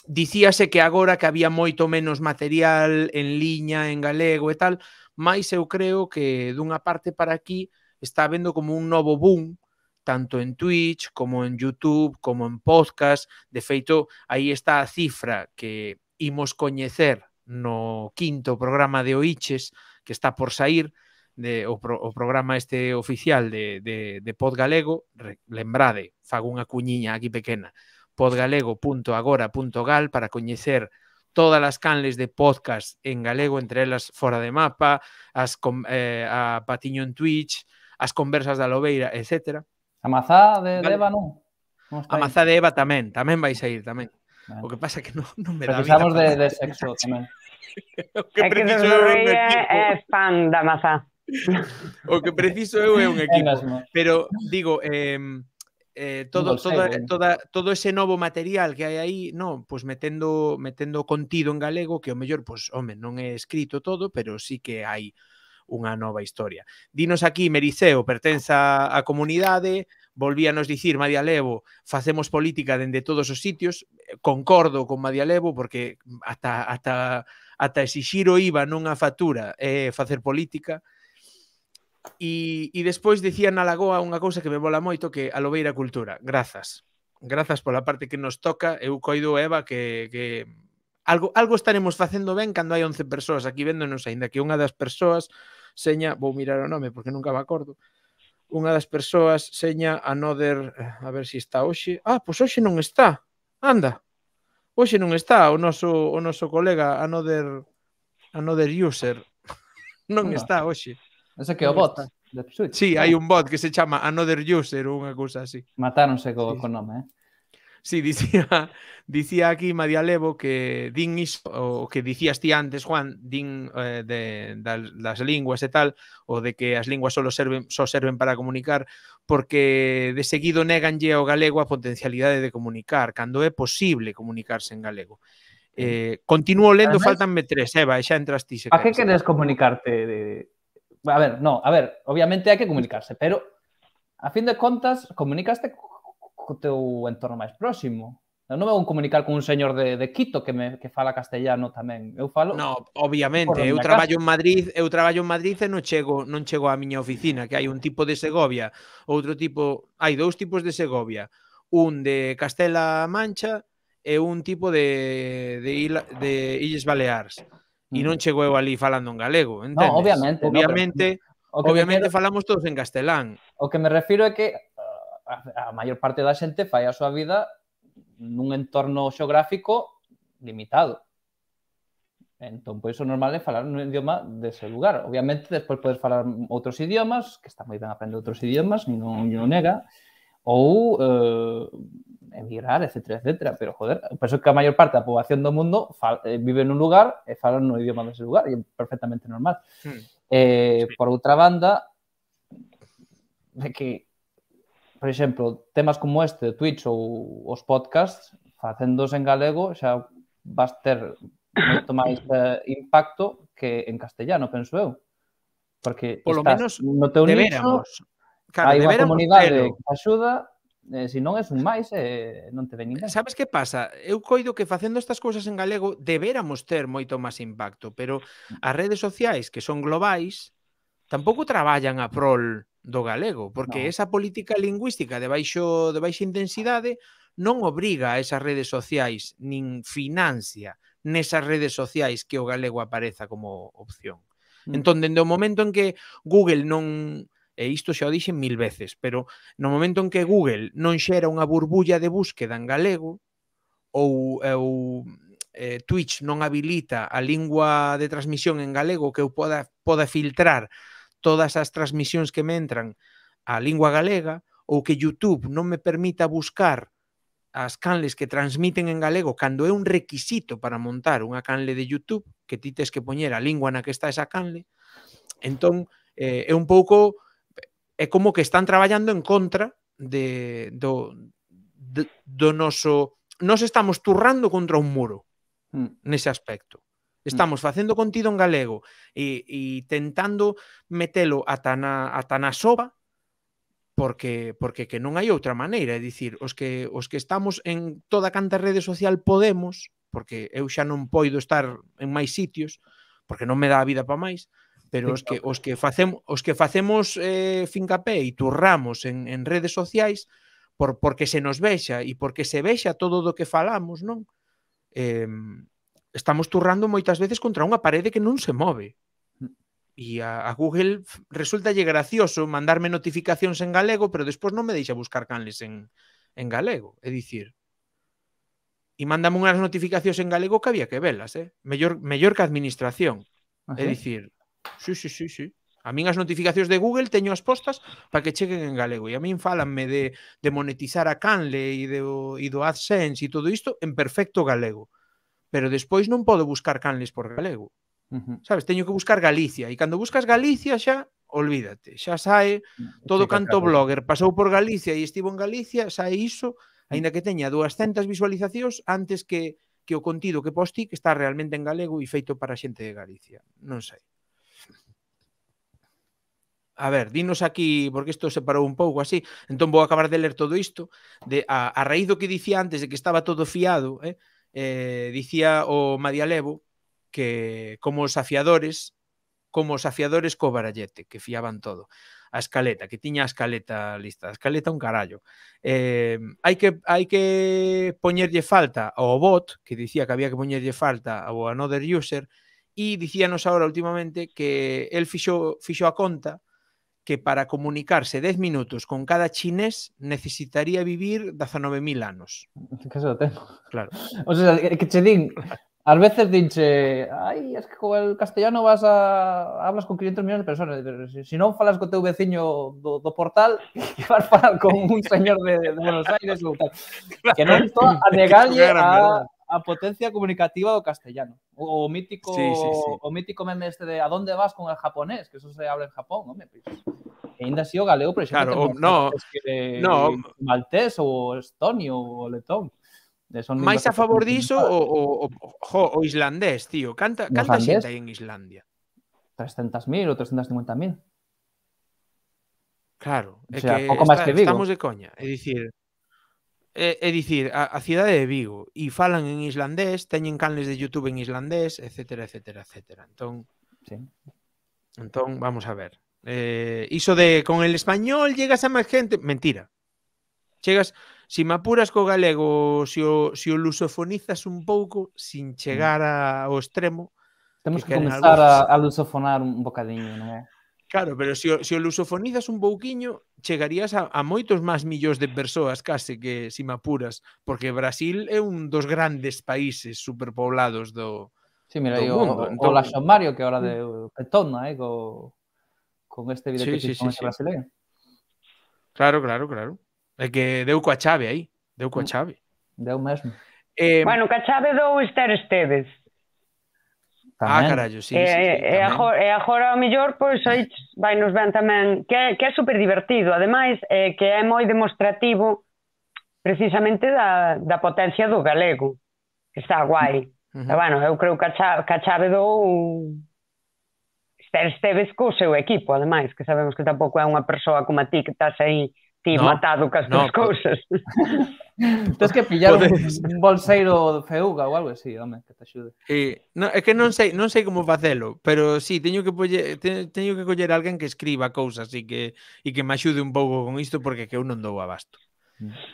dicíase que agora que había moito menos material en liña, en galego e tal, mais eu creo que dunha parte para aquí está habendo como un novo boom, tanto en Twitch, como en YouTube, como en podcast. De feito, aí está a cifra que imos coñecer no 5º programa de Oiches, que está por sair, o programa este oficial de Pod Galego. Lembrade, fago unha cuñiña aquí pequena, podgalego.agora.gal para coñecer todas as canles de podcast en galego, entre elas Fora de Mapa, a Patiño en Twitch, as conversas da Lobeira, etc. A mazá de Eva non A Mazá de Eva tamén vai sair tamén. O que pasa é que non me dá vida. Precisamos de sexo tamén. O que É que preciso Dos é un Rey equipo. é fan da mazá. O que preciso eu é un equipo. mesmo. Pero, digo, bolseiro. todo ese novo material que hai aí, no, pues metendo contido en galego, que o mellor, pues, home, non é escrito todo, pero sí que hai unha nova historia. Dinos aquí, Mericeo, pertenza á comunidade, volvíanos dicir Madia Levo, facemos política dende todos os sitios, concordo con Madia Levo, porque ata exixir o IVA nunha factura é facer política. E despois dicía na Lagoa unha cousa que me mola moito, que a Lobeira Cultura. Grazas pola parte que nos toca. Eu coido, Eva, que algo estaremos facendo ben cando hai 11 persoas aquí véndonos, aínda que unha das persoas seña, vou mirar o nome porque nunca me acordo, unha das persoas seña Another, a ver se está hoxe. Pois hoxe non está. Anda. Hoxe non está o noso colega Another User. Non está hoxe. Ese que é o bot de Switch. Sí, hai un bot que se chama Another User ou unha cousa así. Matáronse co nome, Sí, dicía aquí Madia Levo que din iso, o que dicías ti antes, Juan, din das linguas e tal, o de que as linguas só serven para comunicar, porque de seguido néganlle ao galego a potencialidade de comunicar, cando é posible comunicarse en galego. Continúo lendo, faltanme 3, Eva, e xa entras ti. A que queres comunicarte? A ver, obviamente hai que comunicarse, pero a fin de contas comunicaste co teu entorno máis próximo. Eu non vou comunicar con un señor de Quito que fala castellano tamén. Eu falo... No, obviamente, eu traballo en Madrid e non chego á miña oficina, que hai un tipo de Segovia, outro tipo, hai 2 tipos de Segovia, un de Castela Mancha e un tipo de Illes Baleares. E non chego eu ali falando en galego, entendes? No, obviamente. Obviamente falamos todos en castelán. O que me refiro é que a maior parte da xente fai a súa vida nun entorno xeográfico limitado. Entón, pois o normal é falar nun idioma dese lugar. Obviamente, despois podes falar outros idiomas, que está moi ben aprender outros idiomas, non nega, ou emigrar, etc. Pero, joder, penso que a maior parte da poboación do mundo vive nun lugar e fala no idioma dese lugar, e é perfectamente normal. Por outra banda, de que por exemplo, temas como este de Twitch ou os podcasts, facéndoos en galego, xa vas ter moito máis impacto que en castellano, penso eu. Porque estás no teu nicho, hai unha comunidade que axuda, se non é un máis, non te ven ninguén. Sabes que pasa? Eu coido que facendo estas cousas en galego deberamos ter moito máis impacto, pero as redes sociais, que son globais, tampouco traballan a prol do galego, porque esa política lingüística de baixa intensidade non obriga a esas redes sociais, nin financia nesas redes sociais que o galego apareza como opción. Entón, dende o momento en que Google non, e isto xa o dixen 1000 veces, pero no momento en que Google non xera unha burbulla de búsqueda en galego, ou Twitch non habilita a lingua de transmisión en galego que eu poda filtrar todas as transmisións que me entran á lingua galega, ou que YouTube non me permita buscar as canles que transmiten en galego cando é un requisito para montar unha canle de YouTube, que ti tes que poñer a lingua na que está esa canle, entón é un pouco, é como que están traballando en contra do noso... Nos estamos turrando contra un muro nese aspecto. Estamos facendo contido en galego e tentando metelo ata na soba porque que non hai outra maneira. É dicir, os que estamos en toda canta rede social podemos, porque eu xa non poido estar en máis sitios, porque non me dá a vida para máis, pero os que facemos fincapé e turramos en redes sociais porque se nos vexa e porque se vexa todo do que falamos, non? Estamos turrando moitas veces contra unha parede que non se move. E a Google resultalle gracioso mandarme notificacións en galego, pero despois non me deixa buscar canles en galego. É dicir, e mándame unhas notificacións en galego que había que velas, mellor que a administración. É dicir, sí. A min as notificacións de Google teño as postas para que cheguen en galego. E a min fálanme de monetizar a Canle e do AdSense e todo isto en perfecto galego. Pero despois non podo buscar canles por galego. Sabes, teño que buscar Galicia. E cando buscas Galicia xa, olvídate. Xa sae todo canto blogger pasou por Galicia e estivo en Galicia, sae iso, aínda que teña 200 visualizacións antes que o contido que posti que está realmente en galego e feito para a xente de Galicia. Non sei. A ver, dinos aquí, porque isto se parou un pouco así, entón vou acabar de ler todo isto, a raíz do que dicía antes de que estaba todo fiado, dicía o Marialevo que como os afiadores co barallete, que fiaban todo. A escaleta, que tiña a escaleta lista. A escaleta un carallo. Hai que poñerlle falta ao bot, que dicía que había que poñerlle falta ao another user, e dicíanos agora últimamente que el fixo a conta que para comunicarse 10 minutos con cada chinés necesitaría vivir 19.000 anos. Que se lo tengo. Claro. O sea, que che din, ás veces dinche, ai, es que con el castellano hablas con 500 millones de personas, pero si non falas co teu veciño do portal, que vas falar con un señor de Buenos Aires ou tal. Que non estou a negarlle a potencia comunicativa do castellano. O mítico meme este de ¿a dónde vas con el japonés? Que eso se habla en Japón, home, pois. E ainda así o galego, por exemplo, maltés ou estonio ou letón. Mais a favor diso o islandés, tío. Canta xente hai en Islandia? 300.000 ou 350.000. Claro, é que estamos de coña. É dicir, a cidade de Vigo e falan en islandés, teñen canles de YouTube en islandés, etcétera, etcétera, etcétera. Entón, vamos a ver. Iso de con el español llegas a máis gente, mentira. Chegas, si me apuras co galego, si o lusofonizas un pouco, sin chegar ao extremo. Temos que comenzar a lusofonar un bocadiño, non é? Claro, pero se o lusofonizas un pouquiño, chegarías a moitos máis millóns de persoas case que si me apuras, porque Brasil é un dos grandes países superpoblados do mundo. O Laxomario, que agora de petona, con este vídeo que fixo con este brasileño. Claro. É que deu coa chave aí. Deu coa chave. Deu mesmo. Bueno, coa chave dou Esther Esteves. Carallo, sí. E agora, ao mellor, pois, aí vai nos ben tamén, que é super divertido. Ademais, que é moi demostrativo precisamente da potencia do galego. Está guai. Bueno, eu creo que a chave dou Esther Esteves co seu equipo, ademais, que sabemos que tampouco é unha persoa como a ti que estás aí matado cas túas cousas. Tens que pillar un bolseiro de feuga ou algo así, home, que te axude. É que non sei como facelo, pero sí, teño que coller alguén que escriba cousas e que me axude un pouco con isto porque que eu non dou abasto.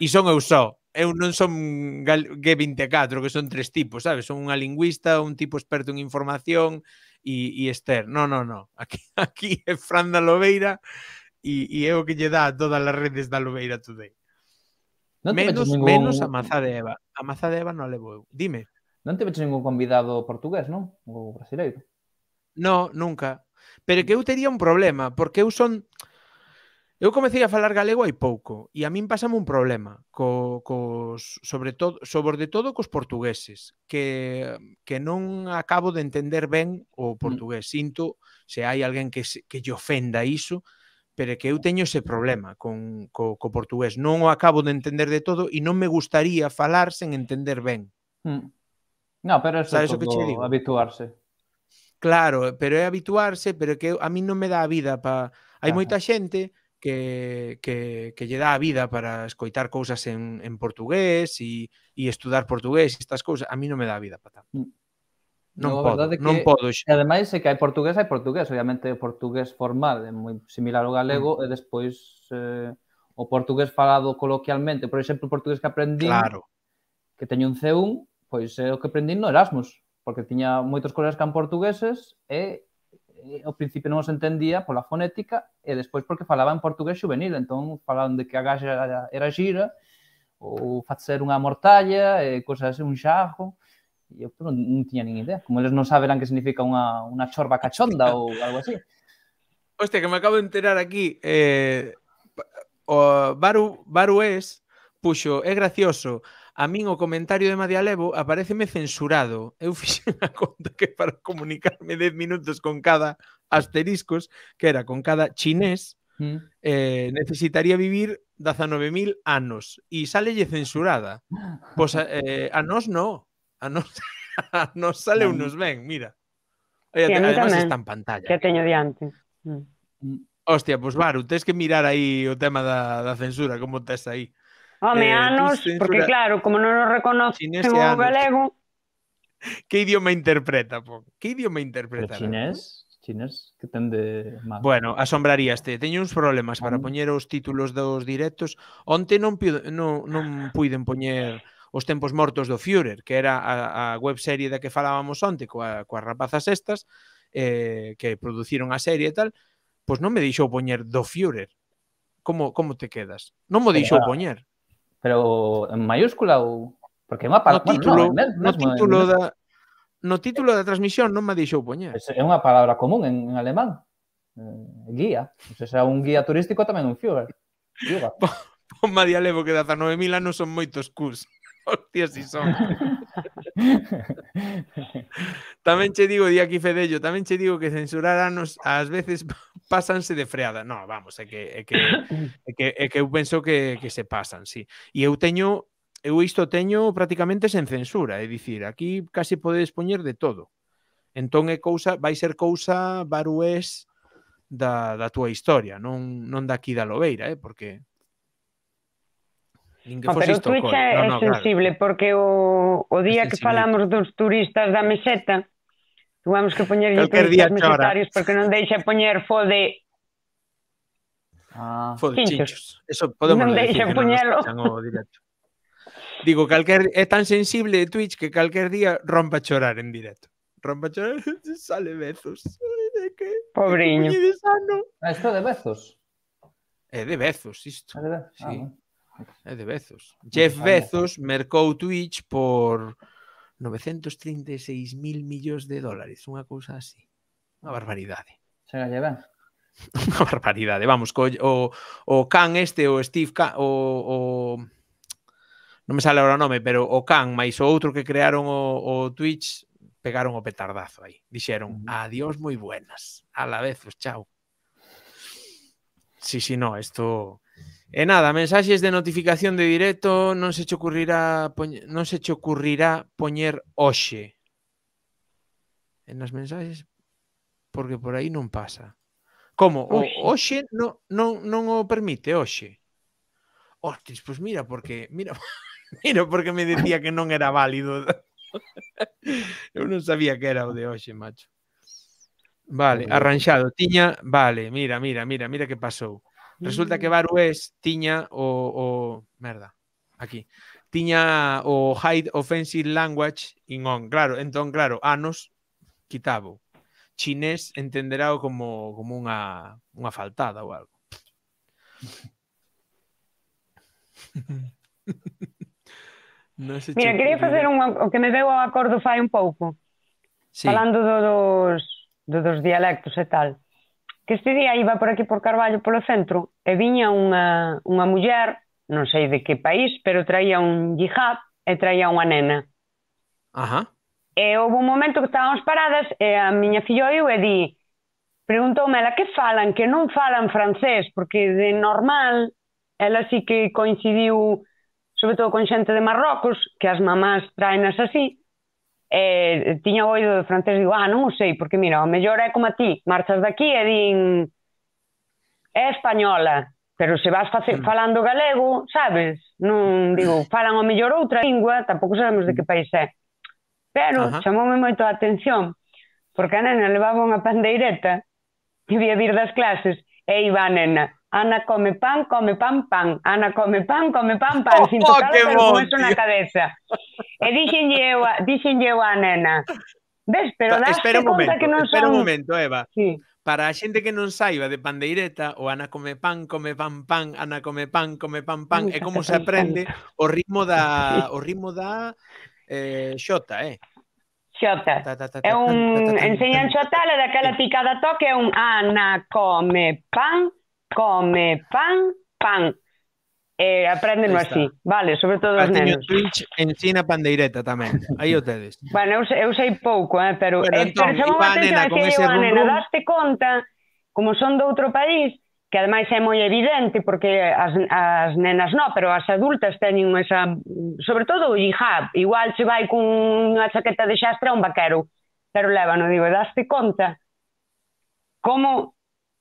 E son eu só. Eu non son G24, que son 3 tipos, sabes? Son unha lingüista, un tipo experto en información e Esther. No. Aquí é Fran da Lobeira e é o que lle dá a todas as redes da Lobeira Today. Menos a Mazá de Eva. A Mazá de Eva non levo eu. Dime. Non te veches ningún convidado portugués, non? Ou brasileiro? No, nunca. Pero que eu tería un problema, porque eu comecei a falar galego hai pouco e a min pasame un problema sobre todo cos portugueses que non acabo de entender ben o portugués. Sinto se hai alguén que lle ofenda iso, pero que eu teño ese problema co portugués. Non o acabo de entender de todo e non me gustaría falar sen entender ben. No, pero eso é todo habituarse. Claro, pero é habituarse, pero que a mí non me dá a vida para... Hai moita xente que lle dá a vida para escoitar cousas en portugués e estudar portugués e estas cousas. A mí non me dá a vida para tanto. Non podo. E ademais é que hai portugués. Obviamente o portugués formal é moi similar ao galego e despois o portugués falado coloquialmente. Por exemplo, o portugués que aprendín, que teño un C1, pois é o que aprendín no Erasmus, porque tiña moitos colegas que eran portugueses e ao principio non os entendía pola fonética e despois porque falaba en portugués juvenil, entón falaban de que a gaxa era xira ou facer unha mortalla e cosas así, un xarro. E eu non tiña nin idea. Como eles non saberán que significa unha chorba cachonda ou algo así. Hostia, que me acabo de enterar aquí. O Barués puxo, é gracioso, a min o comentario de Madialevo apareceme censurado. Eu fixen a conta que para comunicarme 10 minutos con cada asteriscos, que era con cada chinés, necesitaría vivir 19.000 anos. E sálelle censurada. Pois a nós no. A nós, a nós sale unos ben, mira. Sí, a mí Además tamén, está en pantalla. que teño diante. Hostia, pois Baru, tens que mirar aí o tema da censura, como tes aí. Home, anos, Twitch porque censura claro, como non nos reconocen chinés e o anos. galego, Que idioma interpreta, po? Que idioma Pero interpreta? chinés, que ten de mal? Bueno, asombraríaste. Teño uns problemas para poñer os títulos dos directos. Onte non puiden poñer os tempos mortos do Führer, que era a webserie da que falábamos onte coas rapazas estas, que produciron a serie e tal, pois non me deixou poñer do Führer. Como te quedas? Non mo deixou poñer. Pero en mayúscula ou... Porque é unha palabra... No título da transmisión non me deixou poñer. É unha palabra común en alemán. Guía. Se é un guía turístico tamén un Führer. Pon Madialevo que 19.000 anos son moitos cus. Hostia, si son. Tamén che digo, di aquí Fedello, tamén che digo que censurar anos ás veces pásanse de freada. No, vamos, é que eu penso que se pasan, sí. E eu isto teño prácticamente sen censura, é dicir, aquí casi podedes poñer de todo. Entón vai ser cousa Barués da túa historia, non daqui da Lobeira, porque pero o Twitch é sensible, claro. Porque o día que falamos dos turistas da meseta, tuvamos que poñerlle turistas mesetarios porque non deixa poñer fode chinchos. Eso podemos non deixa poñelo. Digo, é tan sensible Twitch que calquer día rompa a chorar en directo. Rompa a chorar, sale Bezos. Pobriño. Isto é de Bezos? É de Bezos, isto. Sí. É de Bezos. Jeff Bezos mercou Twitch por 936.000 millóns de dólares. Unha cousa así. Unha barbaridade. Chega lle ben. Unha barbaridade. Vamos, o Khan este, o Steve Khan, non me sale agora o nome, pero o Khan máis o outro que crearon o Twitch pegaron o petardazo aí. Dixeron, adiós moi buenas. A la vez, chao. Sí, no, esto... E nada, mensaxes de notificación de directo non se che ocurrirá poñer hoxe. En as mensaxes, porque por aí non pasa. Como? Hoxe non o permite, hoxe. Hostis, pois mira, porque me decía que non era válido. Eu non sabía que era o de hoxe, macho. Vale, arranxado. Vale, mira que pasou. Resulta que Barués tiña tiña o Hide Offensive Language in on. Claro, entón, anos quitabo. Chinés entenderá como unha faltada ou algo. Mira, quería facer o que me veu ao acordo fai un pouco. Falando dos dialectos e tal. Que este día iba por aquí por Carballo polo centro e viña unha muller, non sei de que país, pero traía un hijab e traía unha nena. Ajá. E houve un momento que estábamos paradas e a miña fillo eu e preguntoume ela que falan, que non falan francés, porque de normal ela sí que coincidiu sobre todo con xente de Marrocos, que as mamás traenas así, tiña oído de francés, digo, non o sei, porque mira, o mellor é como a ti, marchas daqui e din é española, pero se vas falando galego, sabes? Non, digo, falan o mellor outra lingua, tampouco sabemos de que país é. Pero chamoume moito a atención, porque a nena levaba unha pandeireta que vía vir das clases, e iba a nena, Ana come pan, pan. Ana come pan, pan, sin tocar, pero con eso na cabeza. E dixenlle eu a nena, ves, pero daste conta que non son... Espera un momento, Eva. Sí. Para a xente que non saiba de pandeireta, o Ana come pan, pan, Ana come pan, pan, é como se aprende o ritmo da xota, Xota. Ta, ta, ta, É ta, tan, ta, ta, tan, enseñan tan. xotala daquela picada toque, é un Ana come pan, pan. E Aí apréndeno está. así, vale, sobre todo os Caltiño nenos. Twitch ensina pandeireta tamén. Aí o tedes. Bueno, eu sei pouco, Bueno, pero entón, chamou iba a a atención, nena con decía ese eu a rum nena, rum. daste conta, como son de outro país, que ademais é moi evidente, porque as nenas non, pero as adultas teñen esa, sobre todo o hijab, igual se vai con unha chaqueta de xastra a un vaquero, pero lévano, digo, daste conta, como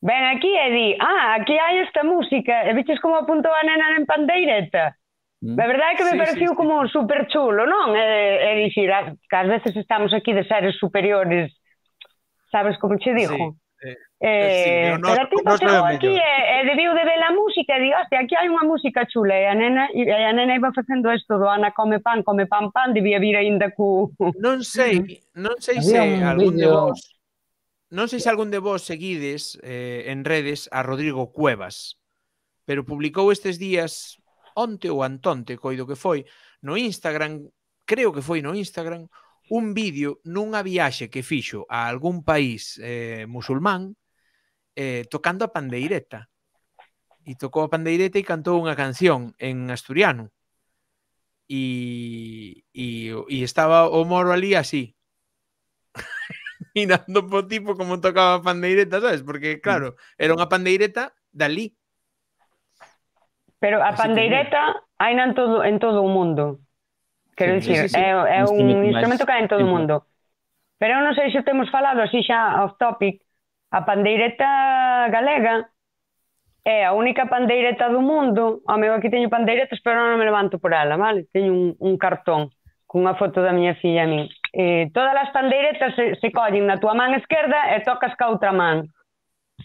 ven aquí e di, aquí hai esta música, e viches como apuntou a nena en pandeireta? A verdade é que me Sí, pareceu sí, sí. como super chulo, non? É dicir, que ás veces estamos aquí de seres superiores, sabes como che digo? Sí, o Pero noso, a tipo o noso é chegou o aquí mellor. e debiu de ver a música e di, hostia, aquí hai unha música chula e a nena iba facendo isto do Ana come pan, debía vir aínda cu... Non sei Había se un algún de vídeo... vos seguides en redes a Rodrigo Cuevas, pero publicou estes días onte ou antonte, coido que foi, no Instagram, creo que foi no Instagram, un vídeo nunha viaxe que fixo a algún país musulmán tocando a pandeireta. E tocou a pandeireta e cantou unha canción en asturiano. E estaba o moro ali así, mirando po tipo como tocaba a pandeireta, sabes? Porque, claro, era unha pandeireta dali. Pero a Así que, pandeireta hai en todo o mundo. Quero Sí, dicir, sí. é un máis instrumento que hai en todo o simple. mundo. Pero eu non sei se temos falado así xa off topic, a pandeireta galega é a única pandeireta do mundo. Meu, aquí teño pandeiretas, pero non me levanto por ela, vale? Teño un cartón cunha foto da miña filla a min. Todas as pandeiretas se collen na túa man esquerda e tocas ca outra man.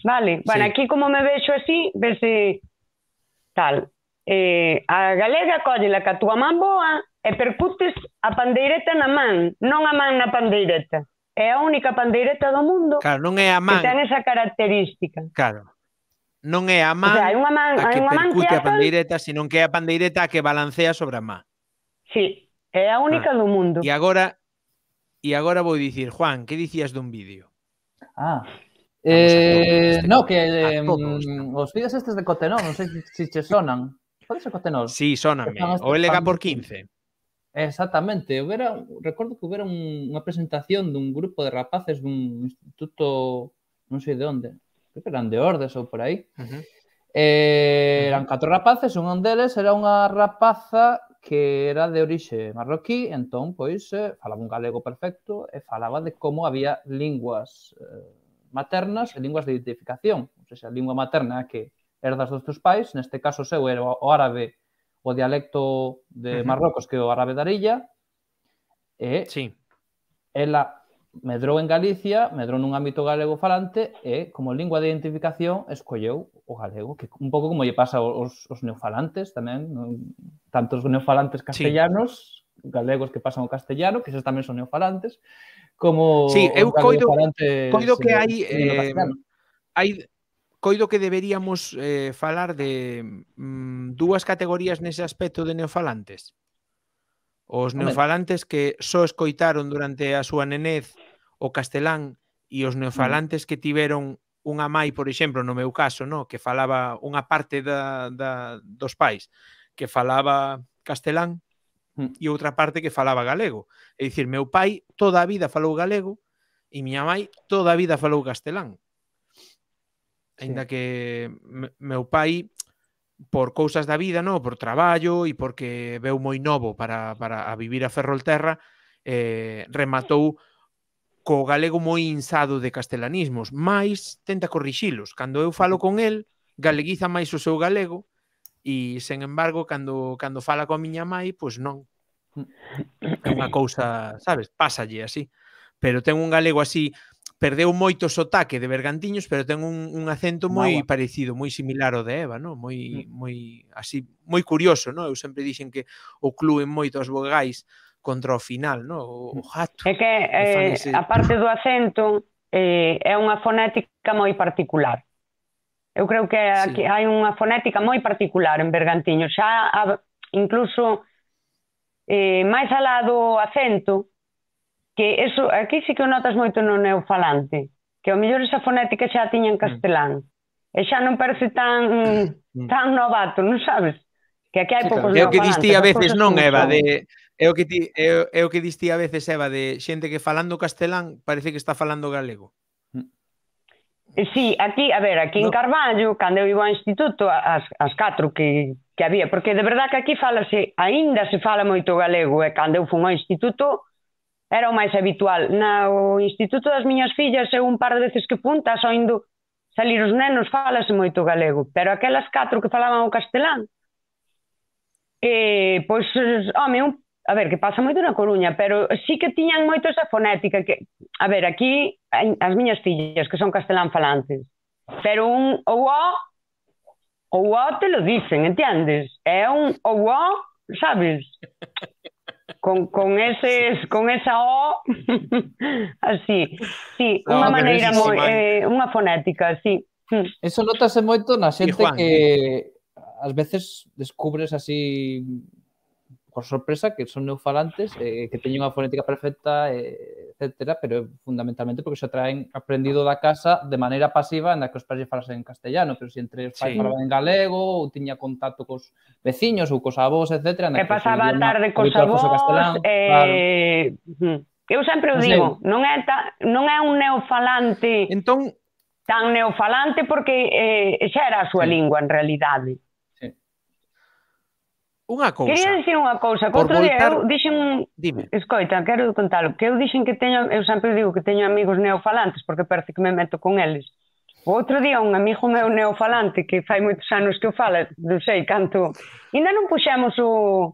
Vale? Bueno, Sí. aquí como me vexo así, vese tal. A galega collela ca túa man boa e percutes a pandeireta na man, non a man na pandeireta. É a única pandeireta do mundo Claro, non é a que man, ten esa característica. claro. Non é a O man sea, hai unha man a que percute a quieta, pandeireta, senón que é a pandeireta a que balancea sobre a man. sí, é a única do mundo. E agora vou dicir, Juan, que dicías dun vídeo? Ah, Vamos a no, que todos. os vídeos estes de Cotenón, non sei se che sonan. Pode ser Cotenón? Sí, sóname. O LG por 15. Exactamente. Recordo que houbera unha presentación dun grupo de rapaces dun instituto, non sei de onde, creo que eran de Ordes ou por aí. Eran 4 rapaces, un deles era unha rapaza que era de orixe marroquí, entón, pois, falaba un galego perfecto e falaba de como había linguas maternas e linguas de identificación. Ou seja, a lingua materna que herdas dos teus pais, neste caso seu era o árabe, o dialecto de Marrocos, que é o árabe da Arilla, e ela medrou en Galicia, medrou nun ámbito galego falante e, como lingua de identificación, escolleu o galego, que un pouco como lle pasa aos neofalantes tamén, tanto os neofalantes castellanos, galegos que pasan ao castellano, que esos tamén son neofalantes, como eu coido que coido que deberíamos falar de dúas categorías nese aspecto de neofalantes. Os neofalantes que só escoitaron durante a súa nenez o castelán e os neofalantes que tiveron unha mai, por exemplo, no meu caso, no, que falaba unha parte dos pais que falaba castelán e outra parte que falaba galego. É dicir, meu pai toda a vida falou galego e miña mai toda a vida falou castelán. Ainda que meu pai, por cousas da vida, no, por traballo e porque veu moi novo para a vivir a Ferrolterra, rematou co galego moi insado de castelanismos, mais tenta corrixilos. Cando eu falo con el, galeguiza máis o seu galego e, sen embargo, cando fala coa miña mai, pois non. É unha cousa, sabes, pásalle así. Pero ten un galego así, perdeu moito sotaque de Bergantiños, pero ten un acento moi parecido, moi similar ao de Eva, no? Moi así, moi curioso, no? Eu sempre dixen que o cluen moito as vogais contra o final, no? O gato. É que, a parte do acento, é unha fonética moi particular. Eu creo que aquí hai unha fonética moi particular en Bergantiños. Xa, incluso, máis alá do acento, que eso, aquí sí que o notas moito no neofalante, que ao mellor esa fonética xa a tiña en castelán, e xa non parece tan novato, non sabes? Que aquí hai Sí, poucos claro. É o que neofalantes, distí a as veces, cousas non, como Eva, son. é o que distí a veces, Eva, de xente que falando castelán parece que está falando galego. Sí, aquí, a ver, aquí en Carballo, cando eu iba ao instituto, as 4 que había, porque de verdad que aquí aínda se fala moito galego, e cando eu fui ao instituto era o máis habitual. No instituto das miñas fillas, eu un par de veces que fun, estás oindo salir os nenos, falase moito galego, pero aquelas 4 que falaban o castelán, pois, home, a ver, que pasa moito na Coruña, pero sí que tiñan moito esa fonética, que, a ver, aquí, as miñas fillas, que son castelán falantes, pero o te lo dicen, entiendes? É un o, sabes? Con esa O, así, sí, unha maneira moi, unha fonética, sí. Eso notase moito na xente Juan, que ás veces descubres así por sorpresa que son neofalantes, que teñen unha fonética perfecta, etcétera, pero fundamentalmente porque se traen aprendido da casa de maneira pasiva na que os pais falasen en castellano, pero se entre os pais falaban en galego ou tiña contacto cos veciños ou cos avós, etcétera, E pasaba a tarde cos avós, eu sempre o digo, non é un neofalante tan neofalante porque xa era a súa lingua en realidade. Unha cousa. Quería dicir unha cousa, que outro día eu dixen... Dime. Escoita, quero contalo, que eu dixen que eu sempre digo que teño amigos neofalantes, porque parece que me meto con eles. O outro día un amigo meu neofalante, que fai moitos anos que eu fala, non sei canto... Ainda non puxemos o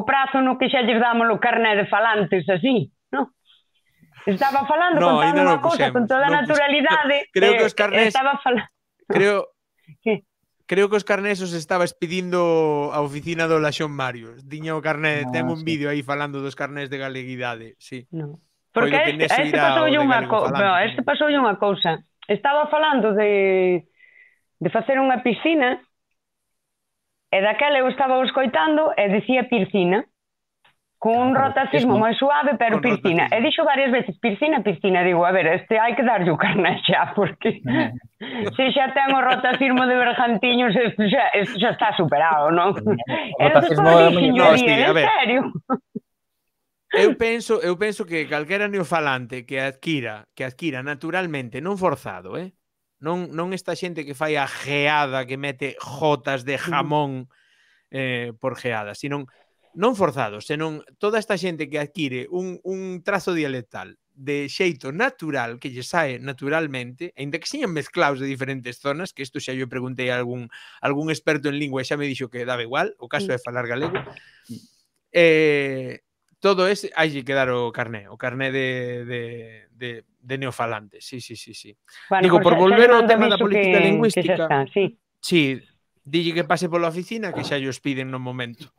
prazo no que xa lles damos o carné de falantes, así, non? Estaba falando, contando unha cousa con toda a naturalidade. Creo que os carnés... Estaba falando... Creo que os carnés os estaba expedindo a oficina do Laxón Mario. Tiña o carné, ten un vídeo aí falando dos carnés de galeguidade, sí. No. Porque este pasoulle unha cousa. Estaba falando de facer unha piscina e daquela eu estaba escoitando e dicía piscina. Con un rotacismo moi suave, pero piscina. E dixo varias veces, piscina. Digo, a ver, hai que darlle o carné xa, porque se xa ten o rotacismo de bergantiños, isto xa está superado, non? E despois dixen, en serio? Eu penso que calquera neofalante que adquira naturalmente, non forzado, non esta xente que fai a geada, que mete jotas de jamón por geada, sino non forzado, senón toda esta xente que adquire un trazo dialectal de xeito natural, que lle sae naturalmente, ainda que señan mezclaos de diferentes zonas, que isto xa yo preguntei a algún experto en lingua e xa me dixo que daba igual, o caso é falar galego, todo ese, hai que dar o carné de neofalantes, sí. Bueno, digo, por volver ao tema da política lingüística, sí, dille que pase pola oficina, que xa llos piden no momento.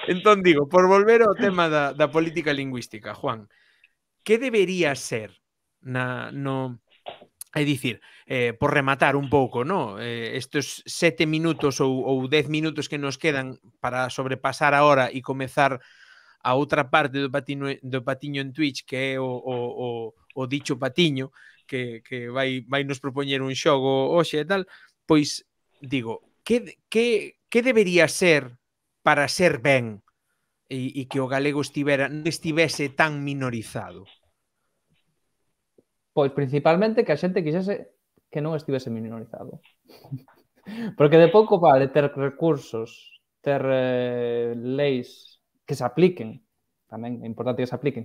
Entón digo, por volver ao tema da política lingüística, Juan, que debería ser é dicir, por rematar un pouco, estes 7 minutos ou 10 minutos que nos quedan para sobrepasar a hora e comezar a outra parte do patiño en Twitch, que é o dicho patiño, que vai nos propoñer un xogo hoxe e tal, pois digo, que debería ser para ser ben e que o galego non estivese tan minorizado? Pois principalmente que a xente quixese que non estivese minorizado. Porque de pouco vale ter recursos, ter leis que se apliquen, tamén é importante que se apliquen,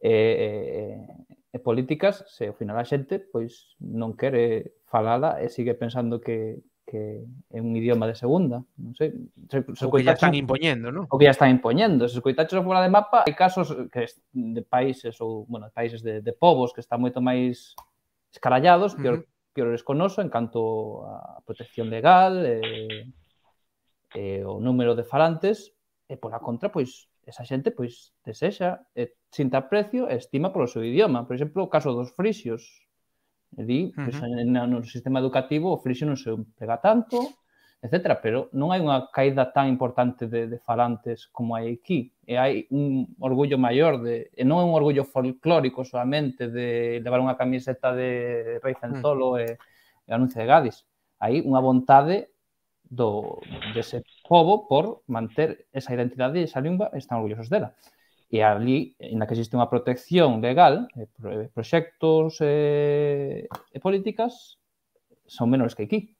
e políticas, se ao final a xente pois non quere falala e sigue pensando que é un idioma de segunda, non sei. O que ya están impoñendo, non? O que ya están impoñendo. Se escoitaches fora de mapa, hai casos de países ou, bueno, países de povos que están moito máis escarallados, piores con noso en canto a protección legal e o número de falantes, e pola contra, pois, esa xente, pois, desexa, sinta aprecio e estima polo seu idioma. Por exemplo, o caso dos frisios. No sistema educativo o frixio non se emprega tanto, etcétera, pero non hai unha caída tan importante de falantes como hai aquí. E hai un orgullo maior, e non é un orgullo folclórico solamente de levar unha camiseta de Rei Centolo e anuncio de Gadis. Hai unha vontade dese pobo por manter esa identidade e esa lingua, están orgullosos dela. E ali, na que existe unha protección legal, proxectos e políticas son menores que aquí.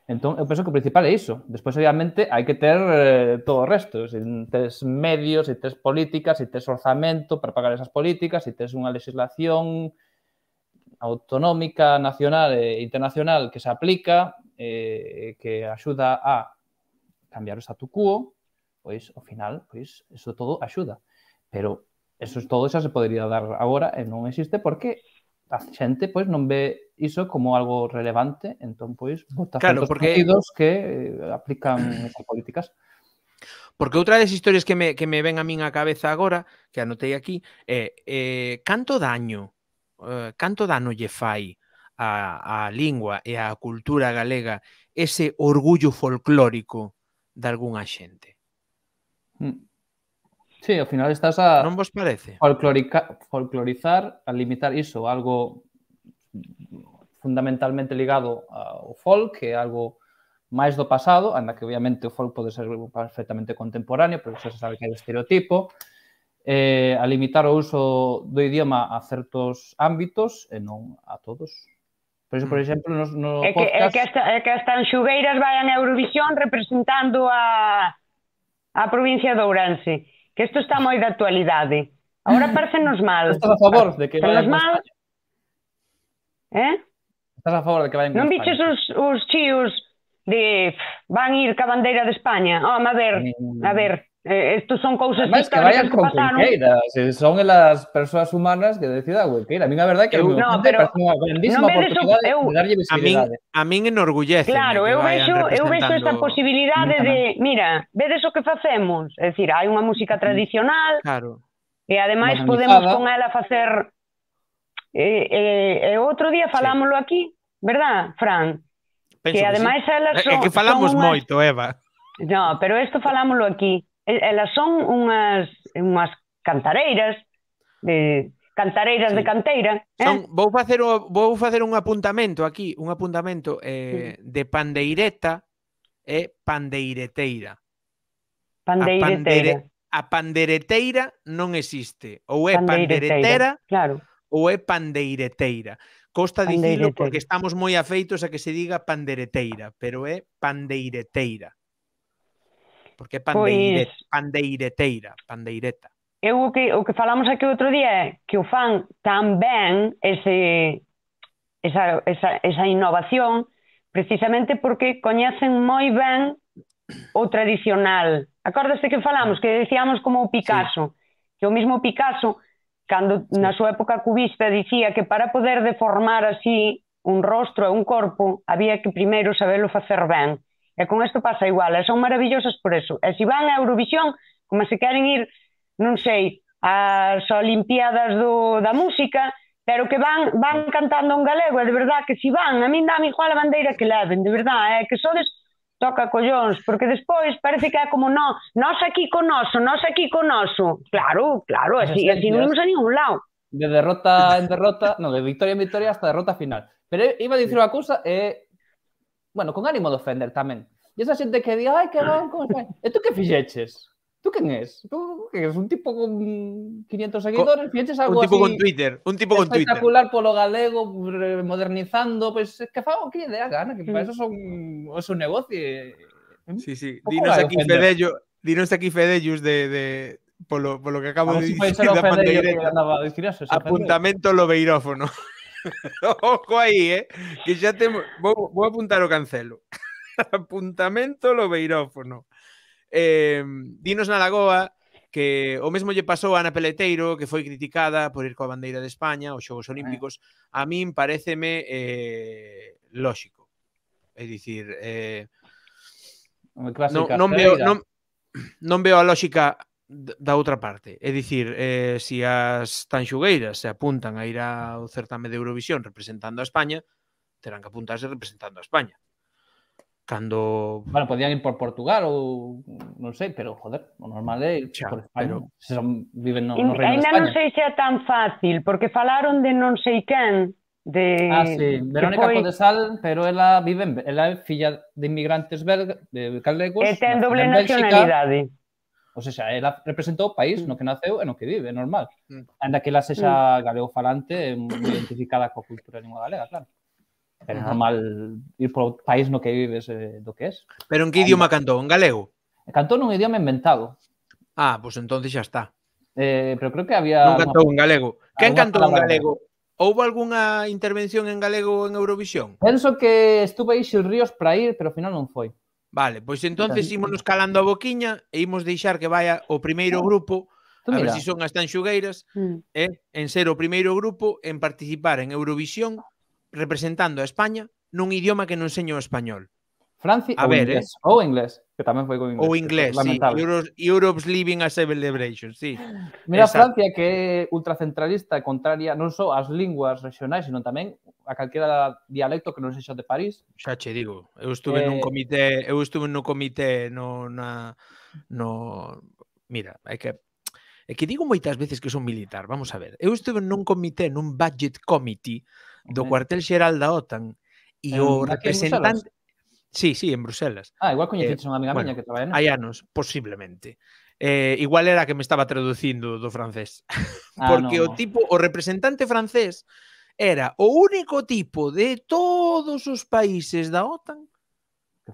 Entón, eu penso que o principal é iso. Despois, obviamente, hai que ter todo o resto. Se tes medios, se tes políticas, se tes orzamento para pagar esas políticas, se tes unha legislación autonómica, nacional e internacional que se aplica, que axuda a cambiar o statu quo, pois, ao final, pois, eso todo axuda. Pero eso todo xa se podería dar agora e non existe porque a xente pois non ve iso como algo relevante, entón pois vota certos partidos que aplican esas políticas. Porque outra das historias que me ven a min á cabeza agora, que anotei aquí, é canto dano lle fai a lingua e a cultura galega ese orgullo folclórico de algunha xente. Sí, ao final estás a non vos parece? folclorizar, a limitar iso, algo fundamentalmente ligado ao folk, que é algo máis do pasado, anda que obviamente o folk pode ser perfectamente contemporáneo, pero xa se sabe que hai o estereotipo, a limitar o uso do idioma a certos ámbitos e non a todos. Por iso, por exemplo, no podcast... É que as tanxugueiras vayan a Eurovisión representando a provincia de Ourense. Que isto está moi de actualidade. Agora parecennos mal. Estás a favor de que vayan con mal? Estás a favor de que vayan con non biches os chíos de van ir ca bandeira de España? Home, a ver, estos son cousas históricas que pasaron. Se son elas persoas humanas que decida Cuenqueira. A mí a verdade que me parece unha grandísima oportunidade de darlle visibilidade. A min enorgullece. Claro, eu vexo esta posibilidade de, mira, vedes o que facemos? É dicir, hai unha música tradicional e ademais podemos con ela facer... E outro día falámoslo aquí, verdad, Fran? Que ademais elas son... É que falamos moito, Eva. No, pero isto falámoslo aquí. Elas son unhas cantareiras de canteira. Vou facer un apuntamento aquí, de pandeireta e pandeireteira. A pandereteira non existe. Ou é panderetera ou é pandeireteira. Costa dicilo porque estamos moi afeitos a que se diga pandereteira, pero é pandeireteira. Porque é pandeireta. Eu o que falamos aquí outro día é que o fan tan ben esa innovación precisamente porque coñecen moi ben o tradicional. Acordaste que falamos, que decíamos como o Picasso, que o mismo Picasso, cando na súa época cubista dicía que para poder deformar así un rostro e un corpo había que primeiro sabelo facer ben. E con isto pasa igual, e son maravillosas por eso. E se van a Eurovisión, como se queren ir, non sei, ás Olimpiadas da música, pero que van cantando un galego, e de verdad que se van, a min dame igual a bandeira que leven, de verdad, que sodes toca collóns, porque despois parece que é como nós aquí con noso. Claro, así non imos a ningún lado. De derrota en derrota, de victoria en victoria hasta derrota final. Pero iba a dicir unha cousa, bueno, con ánimo de ofender tamén. E esa xente que di, ai, que van con España. E tú que fixeches? Tú quen és? Tú que és un tipo con 500 seguidores? Fixeches algo así... Un tipo con Twitter. Espectacular polo galego, modernizando, pois que fago que lle dé a gana, que para eso son o seu negocio. Sí. Dinos aquí Fedellos de polo que acabo de dicir da pandeireta. Apuntamento lobeirófono. Ojo aí, que xa temos... Vou apuntar o cancelo. Apuntamento lobeirófono. Dinos na Lagoa que o mesmo lle pasou a Ana Peleteiro, que foi criticada por ir coa bandeira de España aos Xogos Olímpicos. A min paréceme lóxico. É dicir, non veo a lóxica da outra parte. É dicir, se as tanxugueiras se apuntan a ir ao certame de Eurovisión representando a España, terán que apuntarse representando a España. Cando... Bueno, podían ir por Portugal ou non sei, pero, joder, o normal é ir Xa, por España. pero- Se viven no Reino de Ainda non España. sei se é tan fácil, porque falaron de non sei quen, Sí, que Verónica foi, Codesal, pero ela é filla de inmigrantes galegos, e ten nacida doble en Bélxica, nacionalidade. ou seja, ela representou o país no que naceu e no que vive, é normal. Mm. Ainda que ela sexa galego-falante, moi identificada coa cultura de lingua galega, claro. Pero é normal ir polo país no que vives do que es. Pero en que idioma cantou? En galego? Cantou nun idioma inventado, Ah, pois entonces xa está. pero creo que había... Non cantou en galego. Quen alguna cantou en palabra galego? Houbo algunha intervención en galego en Eurovisión? Penso que estuve aí Xil Ríos para ir, pero ao final non foi. Vale, pois entonces ímonos calando a boquiña e imos deixar que vaya o primeiro grupo, a ver Mira, se son as tanxugueiras, Mm. en ser o primeiro grupo en participar en Eurovisión representando a España nun idioma que non seño o español. Francia A ver, ou inglés, que tamén foi con inglés. Ou inglés, sí. Lamentable. Europe's Living a Celebration, sí. Mira, Exacto. Francia, que é ultracentralista e contraria non só ás linguas regionais, sino tamén a calquera dialecto que non sexa de París. Xa che digo, eu estuve nun comité, mira, é que digo moitas veces que son militar, vamos a ver. Eu estuve nun comité, nun budget committee do cuartel xeral da OTAN e o representante... Sí, en Bruselas. Igual coñeciches unha amiga miña que traballa hai anos, posiblemente. Igual era que me estaba traducindo do francés. Porque o representante francés era o único tipo de todos os países da OTAN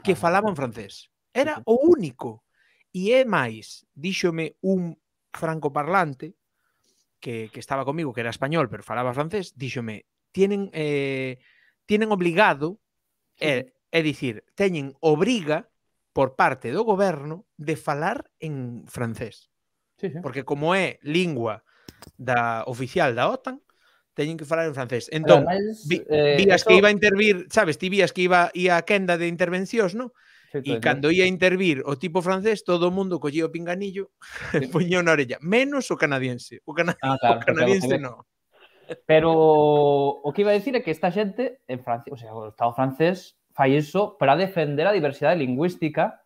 que falaban francés. Era o único. E é máis, díxome un francoparlante que estaba comigo, que era español, pero falaba francés, díxome, tienen obligado, é dicir, teñen obriga por parte do goberno de falar en francés. Porque como é lingua oficial da OTAN, teñen que falar en francés. Entón, vías que iba a intervir, sabes, ti vías que iba a quenda de intervencións, non? E cando ia a intervir o tipo francés, todo o mundo collía o pinganillo e poñía na orella. Menos o canadiense. O canadiense non. Pero o que iba a decir é que esta xente en Francia, o sea, o Estado francés fai iso para defender a diversidade lingüística,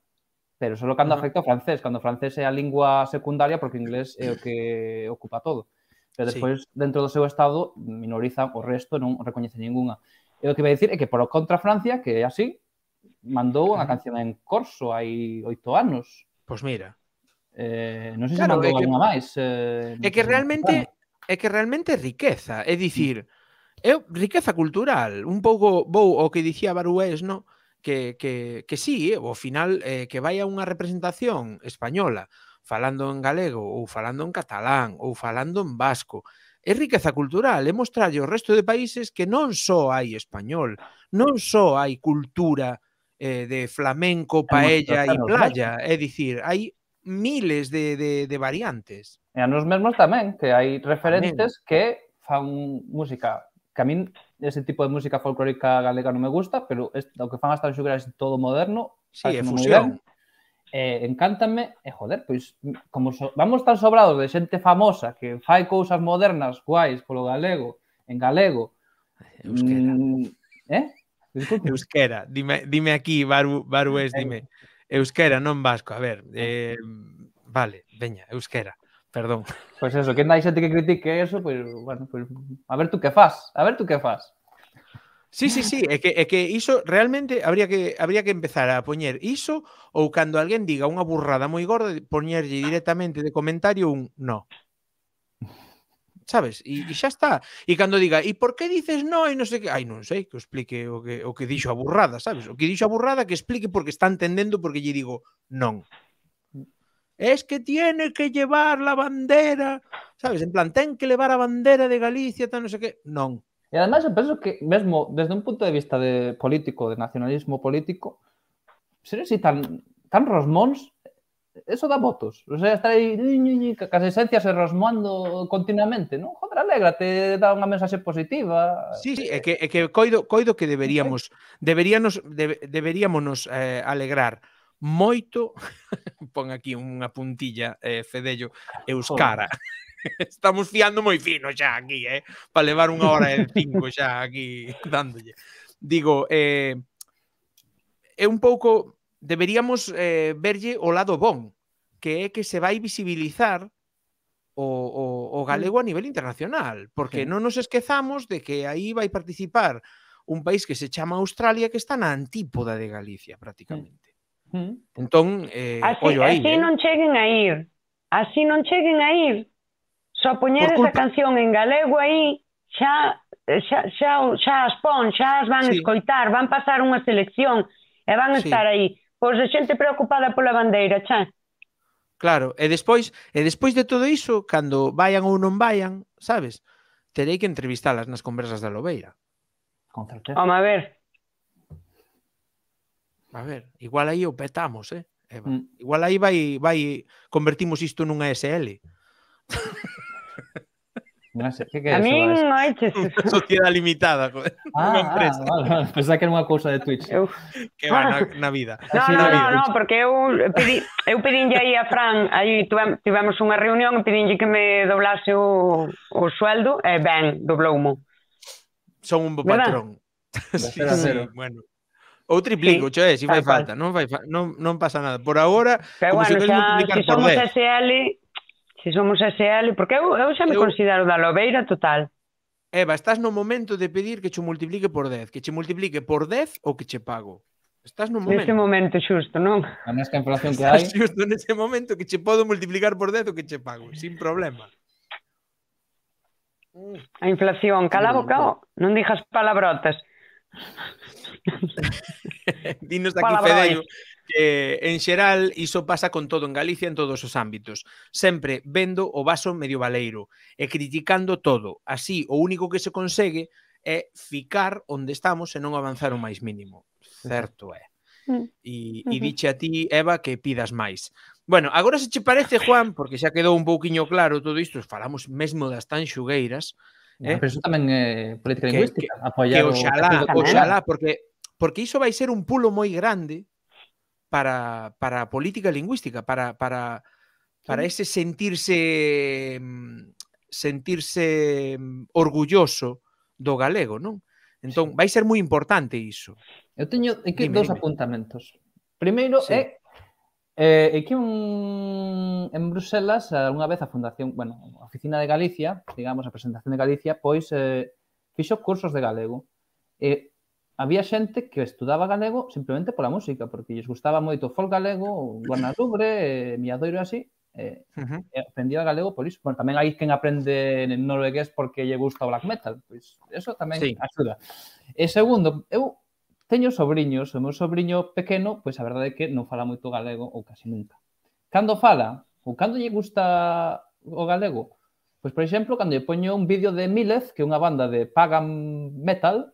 pero só cando afecta ao francés. Cando o francés é a lingua secundaria, porque o inglés é o que ocupa todo. Pero despois, dentro do seu Estado, minorizan o resto, non recoñece ninguna. E o que iba a dicir é que, por contra Francia, que é así, mandou unha canción en corso hai 8 anos. Pois mira. Non sei se mandou alguna máis. É que realmente é riqueza. É dicir, é riqueza cultural. Un pouco vou ao que dicía Barués, no? Que sí, ao final que vai a unha representación española falando en galego ou falando en catalán ou falando en vasco. É riqueza cultural, é mostrarlle ao resto de países que non só hai español, non só hai cultura de flamenco, paella e playa, é dicir, hai miles de variantes. E a nos mesmos tamén, que hai referentes que fan música, que a min ese tipo de música folclórica galega non me gusta, pero o que fan as tanxugueiras todo moderno, sí, é fusión. Encántame, e joder, pois como vamos tan sobrados de xente famosa que fai cousas modernas guais polo galego, en galego. Euskera. Euskera, dime aquí, Barués, dime. Euskera, non vasco, a ver. Vale, veña, euskera. Perdón. Pois eso, que hai xente que critique eso, pois, bueno, pois, a ver tú que fas. Sí, é que iso realmente habría que empezar a poñer iso ou cando alguén diga unha burrada moi gorda, poñerlle directamente de comentario un no. Sabes? E xa está. E cando diga, e por que dices no e non sei que, non sei, que o explique o que dixo a burrada, sabes? O que dixo a burrada que explique porque está entendendo porque lle digo non. Es que tiene que llevar la bandera, sabes? En plan, ten que levar a bandera de Galicia, tal, non sei que. Non. E ademais, eu penso que mesmo desde un punto de vista de político, de nacionalismo político, ser así tan rosmóns, eso dá votos. O sea, estar aí cas esencias e rosmoando continuamente, non? Joder, alégrate, dá unha mensaxe positiva. Sí, é que coido que deberíamos alegrar moito, pon aquí unha puntilla, Fedello, Euskara. Estamos fiando moi fino xa aquí, para levar 1 hora e 5 xa aquí dándolle. Digo, é un pouco, deberíamos verlle o lado bon, que é que se vai visibilizar o galego a nivel internacional, porque non nos esquezamos de que aí vai participar un país que se chama Australia, que está na antípoda de Galicia, prácticamente. Entón, ollo aí, así non cheguen a ir. Así non cheguen a ir. Só poñer esa canción en galego aí, xa as pon, xa as van escoitar, van pasar unha selección e van estar aí. Pois a xente preocupada pola bandeira, xa. Claro, e despois de todo iso, cando vayan ou non vayan, sabes, terei que entrevistalas nas conversas da Lobeira. Con certeza. Home, a ver, igual aí o petamos, Eva. Igual aí vai convertimos isto nunha SL. Non sei, que é a eso? min noiches. Sociedade limitada, unha empresa. Vale. Pensaba que era unha cousa de Twitch. Que va na vida. No, porque eu pedinlle aí a Fran, aí tivemos unha reunión e pedinlle que me doblase o sueldo e ben, dobloumo. Son un bo patrón. Sí, bueno. Ou triplico, se fai falta, non pasa nada. Por agora, como se queres multiplicar por 10. Se somos SL, porque eu xa me considero da Lobeira total. Eva, estás no momento de pedir que che multiplique por 10, que che multiplique por 10 ou que che pago. Estás no momento. Neste momento xusto, non? A mesma inflación que hai. Estás xusto nese momento que che podo multiplicar por 10 ou que che pago, sin problema. A inflación, cala a boca, non dixas palabrotas. Dinos aquí, Fedeio, que en xeral iso pasa con todo en Galicia en todos os ámbitos, sempre vendo o vaso medio baleiro e criticando todo. Así, o único que se consegue é ficar onde estamos e non avanzar o máis mínimo. Certo é. E diche a ti, Eva, que pidas máis. Bueno, agora se che parece, Juan, porque xa quedou un pouquiño claro todo isto, falamos mesmo das tanxugueiras, pero iso tamén é política lingüística, apoiar oxalá, porque iso vai ser un pulo moi grande para a política lingüística, para ese sentirse orgulloso do galego, non? Entón, vai ser moi importante iso. Eu teño aquí dous apuntamentos. Primeiro é que en Bruselas, unha vez a Fundación, a Oficina de Galicia, digamos, a Presentación de Galicia, pois fixo cursos de galego. Había xente que estudaba galego simplemente pola música, porque lles gustaba moito o folk galego, o Guarnalubre, Miadoiro e así, e aprendía galego por iso. Bueno, tamén hai quen aprende noruegués porque lle gusta o black metal, pois eso tamén axuda. E segundo, eu teño sobriños, o meu sobriño pequeno, pois a verdade é que non fala moito galego ou casi nunca. Cando fala, ou cando lle gusta o galego, pois, por exemplo, cando lle poño un vídeo de Milez, que é unha banda de pagan metal.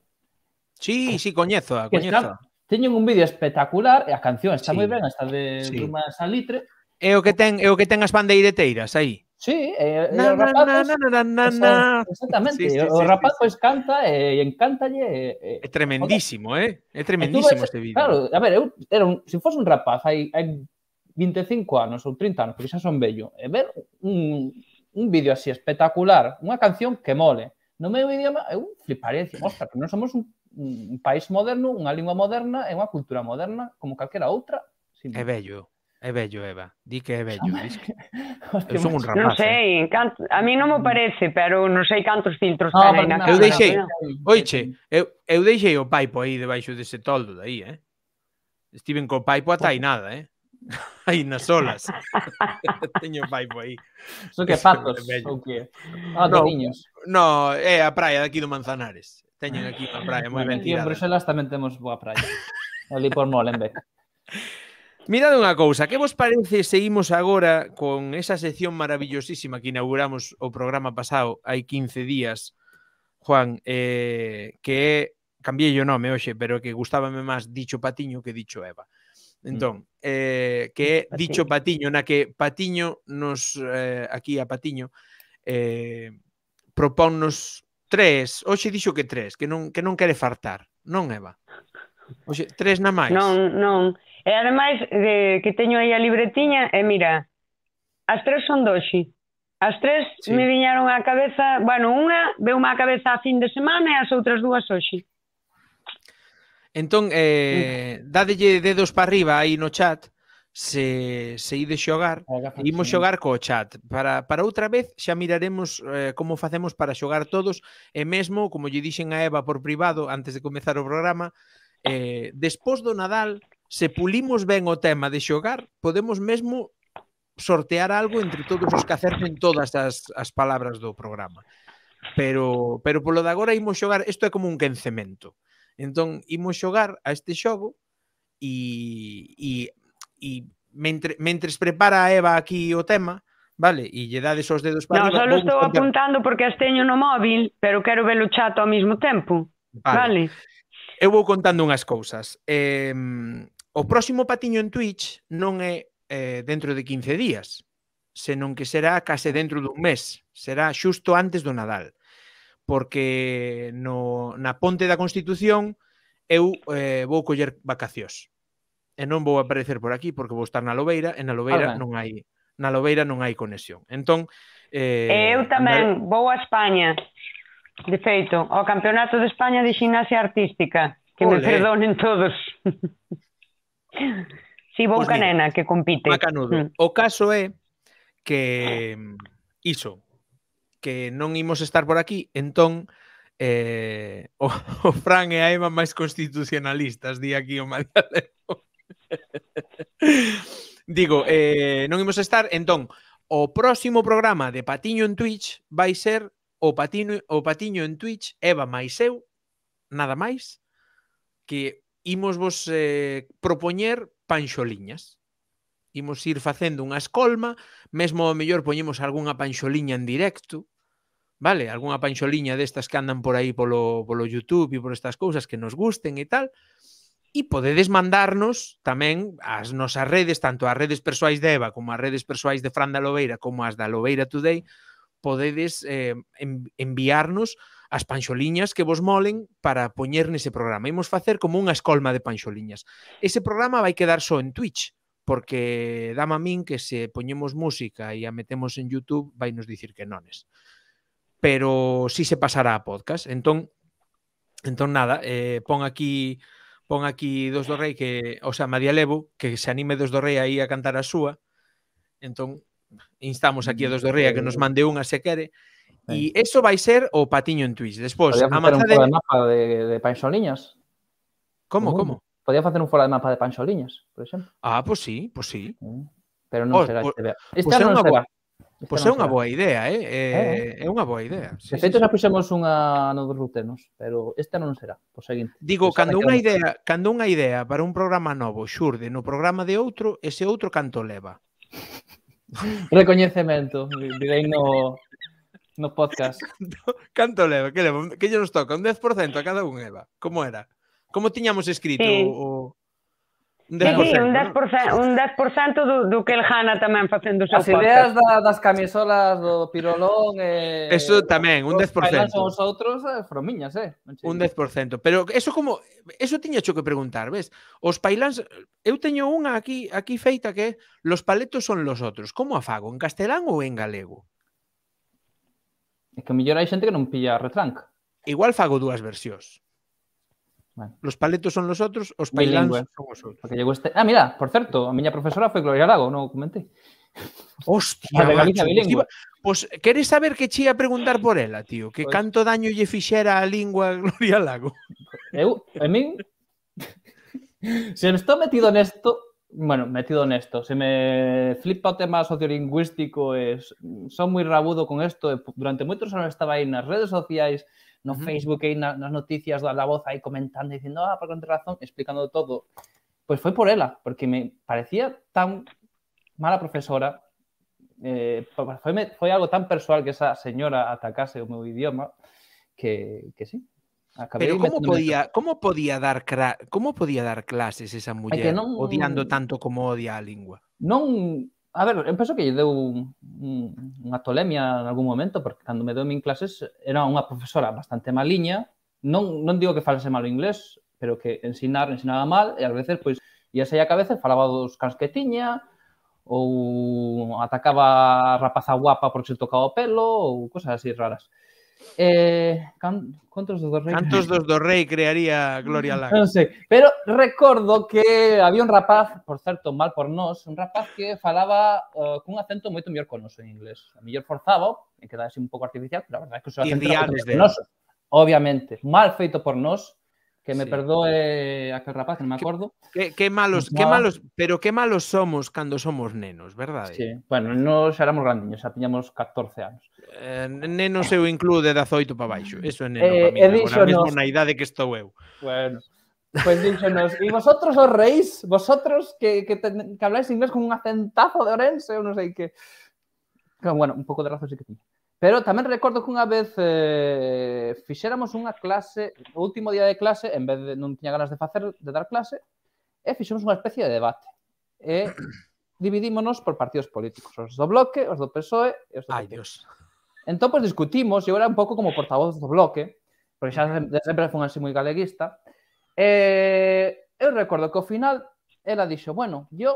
Sí, coñezo. Teñen un vídeo espectacular e a canción está moi ben, esta de Bruma Salitre. É o que ten as bandeireteiras aí. Sí, e o rapaz... Exactamente, o rapaz pois canta e encántalle. É tremendísimo, É tremendísimo este vídeo. Claro, a ver, se fose un rapaz hai 25 anos ou 30 anos, porque xa son vello, e ver un vídeo así espectacular, unha canción que mole, no meu idioma, eu fliparía e dicir, ostras, que non somos un país moderno, unha lingua moderna e unha cultura moderna como calquera outra. É bello, Eva. Di que é bello. Eu son un rapaz. Non sei, a mí non me parece, pero non sei cantos filtros ten aí na cara. Eu deixei o paipo aí debaixo dese toldo de aí, Estiven co paipo ata aí nada, aí nas olas. Teño o paipo aí. Son que patos, ou que? Niños. No, é a praia daqui do Manzanares. Teñen aquí unha praia moi ben tirada. Aquí en Bruselas tamén temos boa praia. Ali por Molenbeek. Mirade unha cousa, que vos parece se imos agora con esa sección maravillosísima que inauguramos o programa pasado hai 15 días, Juan, que é, cambiei o nome hoxe, pero que gustábame máis Dicho Patiño que Dicho Eva. Entón, que é Dicho Patiño, na que Patiño nos, aquí a Patiño, propónnos 3, hoxe dixo que 3, que non quere fartar, non, Eva? Hoxe, 3 na máis. Non. E ademais, que teño aí a libretiña, e mira, as 3 son doxe. As 3 me viñaron á cabeza, unha veume á cabeza a fin de semana e as outras 2 hoxe. Entón, dádelle dedos para arriba aí no chat se ides xogar, e imos xogar co chat. Para outra vez xa miraremos como facemos para xogar todos, e mesmo, como lle dixen a Eva por privado antes de comezar o programa, despois do Nadal, se pulimos ben o tema de xogar, podemos mesmo sortear algo entre todos os que acerten todas as palabras do programa. Pero polo de agora imos xogar, isto é como un quencemento. Entón, imos xogar a este xogo e mentres prepara a Eva aquí o tema, vale, e lle dades os dedos para arriba... Non, só estou apuntando porque as teño no móvil, pero quero ver o chat ao mesmo tempo. Vale. Eu vou contando unhas cousas. O próximo patiño en Twitch non é dentro de 15 días, senón que será case dentro dun mes. Será xusto antes do Nadal. Porque na Ponte da Constitución eu vou coller vacacións. E non vou aparecer por aquí porque vou estar na Lobeira, e na Lobeira non hai conexión. Entón, eu tamén vou a España. De feito, ao Campeonato de España de Ximnasia Artística, que me perdonen todos. Si, vou ca nena que compite. Macanudo. O caso é que iso, que non imos estar por aquí, entón o Fran e a Eva máis constitucionalistas, di aquí o Madialero. Digo, non imos estar, entón, o próximo programa de Patiño en Twitch vai ser o Patiño en Twitch, Eva máis eu, nada máis, que imos vos propoñer panxoliñas. Imos ir facendo unha escolma, mesmo ao mellor poñemos algunha panxoliña en directo, vale? Algunha panxoliña destas que andan por aí polo YouTube e por estas cousas que nos gusten e tal. E podedes mandarnos tamén as nosas redes, tanto as redes persoais de Eva como as redes persoais de Fran da Lobeira como as da Lobeira Today, podedes enviarnos as panxoliñas que vos molen para poñer nese programa. Imos facer como unha escolma de panxoliñas. Ese programa vai quedar só en Twitch, porque dame a min que se poñemos música e a metemos en YouTube vai nos dicir que nones. Pero si se pasará a podcast. Entón nada, pon aquí Dos do Rei, que, o sea, Madialevo, que se anime Dos do Rei aí a cantar a súa. Entón, instamos aquí a Dos do Rei a que nos mande unha se quere. E eso vai ser o Patiño en Twitch. Despois, a facer un fora de mapa de panxoliñas. Como? Podía facer un fora de mapa de panxoliñas, por exemplo. Ah, pois sí. Pero non será este verano. Este ano non será. Pois é unha boa idea, é unha boa idea. De feito, xa puxemos unha no dos rutenos, pero este ano non será, por seguinte. Digo, cando unha idea para un programa novo xurde no programa de outro, ese outro canto leva. Recoñecemento, direi no podcast. Canto leva? Que leva? Que lle nos toca? Un 10% a cada un, Eva? Como era? Como tiñamos escrito o... Un 10%, un 10% do que el gana tamén facendo o seu podcast. As ideas das camisolas do Pirolón eso tamén, un 10%. Son os outros fromiñas, Un 10%. Pero eso como... Eso tiña xo que preguntar, ves? Os pailáns... Eu teño unha aquí feita que é los paletos son los otros. Como a fago? En castelán ou en galego? É que mellor hai xente que non pilla retranca. Igual fago dúas versións. Bueno. Los paletos son los otros, os pailáns son os outros. Porque llegou este... mira, por certo, a miña profesora foi Gloria Lago, non o comentei. Hostia, macho. Pues queres saber que che ia preguntar por ela, tío? Que canto daño lle fixera a lingua Gloria Lago? A min... Se me estou metido nesto, se me flipa o tema sociolingüístico, son moi rabudo con isto, durante moitos anos estaba aí nas redes sociais, no Facebook e nas noticias da voz aí comentando, dicindo, por contra razón, explicando todo. Pois foi por ela, porque me parecía tan mala profesora, foi algo tan persoal que esa señora atacase o meu idioma, que sí. Pero como podía dar clases esa muller odiando tanto como odia a lingua? Non... A ver, eu penso que lle deu unha tolemia en algún momento, porque cando me deu min clases era unha profesora bastante maliña, non digo que falase mal o inglés, pero que ensinaba mal, e ás veces, pois, ia sair a cabeza e falaba dos cans que tiña, ou atacaba a rapaza guapa porque se tocaba o pelo, ou cosas así raras. Contos dos Rei? Cantos dos do Rei crearía Gloria Lago? Non sei, pero recordo que había un rapaz, por certo, mal por nós, un rapaz que falaba cun acento moito mellor con noso en inglés. A mellor forzaba, e quedaba así un pouco artificial, pero a verdade é que o seu acento era moito Tirriades mellor que dele. noso. Obviamente, mal feito por nós, que me Sí. perdoe aquel rapaz, que non me acordo. Que malos, pero que malos somos cando somos nenos, verdade? Sí, bueno, nós éramos grandiños, xa tiñamos 14 anos. Nenos eu incluo de 18 para baixo. Eso é neno para mí. E Agora mesmo díxonos- na idade que estou eu. Bueno, pues díxonos, e vosotros os reís, vosotros que habláis inglés con un acentazo de Orense, eu non sei que... Bueno, un pouco de razón sí que tiña. Pero tamén recordo que unha vez fixéramos unha clase, o último día de clase, en vez de non tiña ganas de dar clase, e fixemos unha especie de debate. E dividímonos por partidos políticos, os do Bloque, os do PSOE e os do Ai, PP. Dios. Entón, pues, discutimos, eu era un pouco como portavoz do Bloque, porque xa sempre fui así moi galeguista, eu recordo que ao final ela dixo, bueno, yo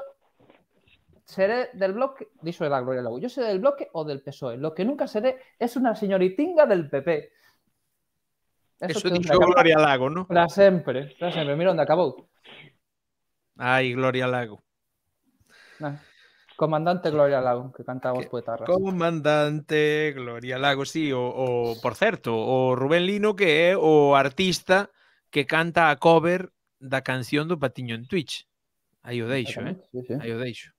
seré del Bloque, dixo la Gloria Lago, yo seré del Bloque o del PSOE, lo que nunca seré es una señoritinga del PP. Eso dixo Gloria Lago, ¿no? Para sempre, mira onde acabou. Ai, Gloria Lago. Comandante Gloria Lago, que cantaba os poetarras. Comandante Gloria Lago, sí, por certo, o Rubén Lino que é o artista que canta a cover da canción do Patiño en Twitch. Aí o deixo, Sí. Aí o deixo.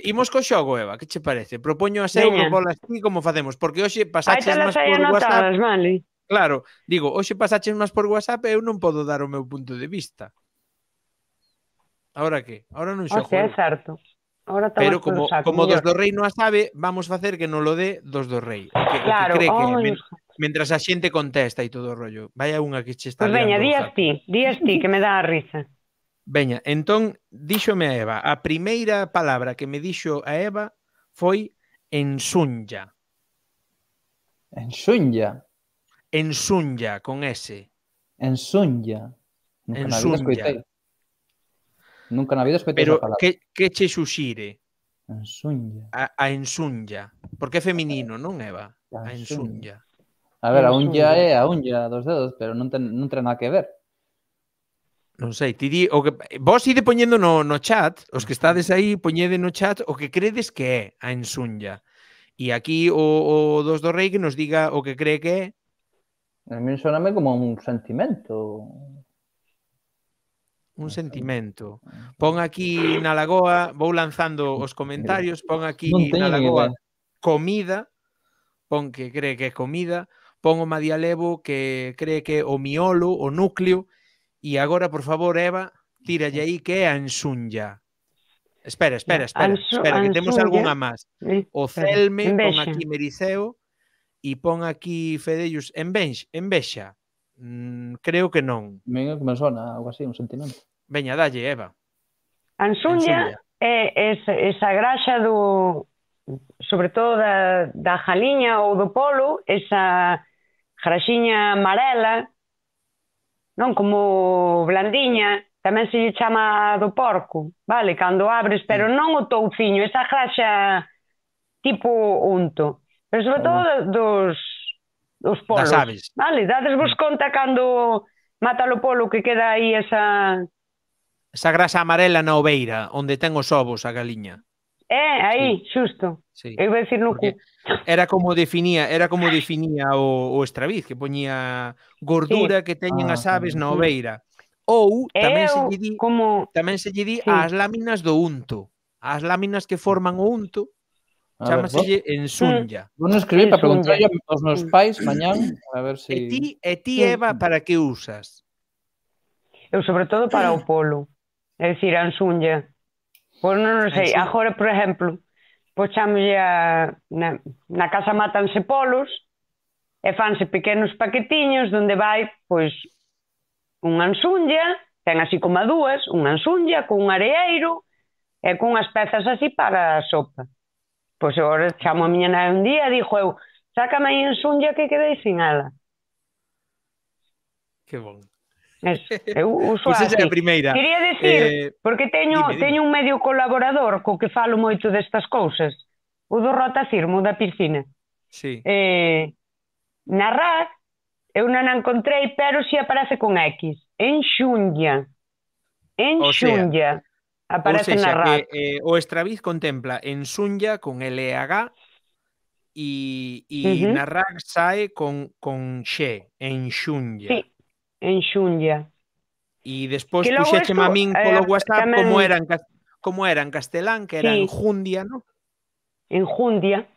Imos co xogo, Eva, que che parece? Propoño as eu, propolas ti, como facemos? Porque hoxe pasaches máis por WhatsApp. Vale. Claro, digo, hoxe pasaches máis por WhatsApp e eu non podo dar o meu punto de vista. Ahora que? Ahora non xogo. É certo. Pero como dos do Rei non a sabe, vamos facer que non lo dé dos do Rei. Claro. Que cree que mentras a xente contesta e todo o rollo. Vaya unha que che está liando. Veña, días ti, que me dá a risa. Veña, entón, díxome a Eva, a primeira palabra que me dixo a Eva foi ensunlla. Ensunlla? Ensunlla, con S. Ensunlla. Nunca na vida escoitei esa palabra. Pero que che xuxire? Ensunlla. A ensunlla. Porque é feminino, non, Eva? A ensunlla. A ver, a unlla é a unlla dos dedos, pero non ten nada que ver. Non sei, ti di, o que vos ide poñendo no chat, os que estades aí, poñede no chat o que credes que é a ensunlla. E aquí o dos do Rei que nos diga o que cree que é. A mí soname como un sentimento. Un sentimento. Pon aquí na lagoa, vou lanzando os comentarios, pon aquí na lagoa comida, pon que cree que é comida, pon o Madialevo que cree que é o miolo, o núcleo. E agora, por favor, Eva, tíralle aí que é a ensunlla. Espera, que temos algunha máis. O Celme, pon aquí Meriseo, e pon aquí Fedellus, envexa. Creo que non. Me sona algo así, un sentimento. Veña, dalle, Eva. A ensunlla é esa graxa do, sobre todo da jaliña ou do polo, esa graxiña amarela, non como blandiña, tamén se lle chama do porco, vale? Cando abres, pero non o touciño, esa graxa tipo unto. Pero sobre todo dos polos. Das aves. Vale, dadesvos conta cando mata o polo que queda aí esa grasa amarela na oveira, onde ten os ovos a galiña. Aí, xusto. Sí. Eu vou dicir no cu. Era como definía o Estraviz, que poñía gordura que teñen as aves na oveira. Ou tamén se lle di ás láminas do unto. As láminas que forman o unto chámaselle ensunlla. Vou escribir para preguntar aos meus pais mañán a ver se E ti, Eva, para que usas? Eu sobre todo para o polo. É dicir, a ensunlla. Pois non sei, agora, por exemplo, pois chamolle na casa mátanse polos e fanse pequenos paquetiños onde vai, pois, unha ensunlla, ten así como a dúas, unha ensunlla con un areeiro e con unhas pezas así para a sopa. Pois agora chamo a miña nai un día e dixo eu, sácame aí ensunlla que quedei sin ela. Que bon. Eu uso así. Esa é a primeira. Quería dicir, porque teño un medio colaborador co que falo moito destas cousas, o do Rotacirmo, da piscina. Sí. Na RAC, eu non a encontrei, pero si aparece con X. Enxundia. O sea, Enxundia. ou Aparece na sexa, que RAC. o Estraviz contempla en Sunlla con LH e na RAC sae con Xe, en Xunlla. Sí, enxundia. E despois Que logo puxécheme isto, a min polo WhatsApp como tamén, era en castelán, que era sí, enjundia, non? enjundia.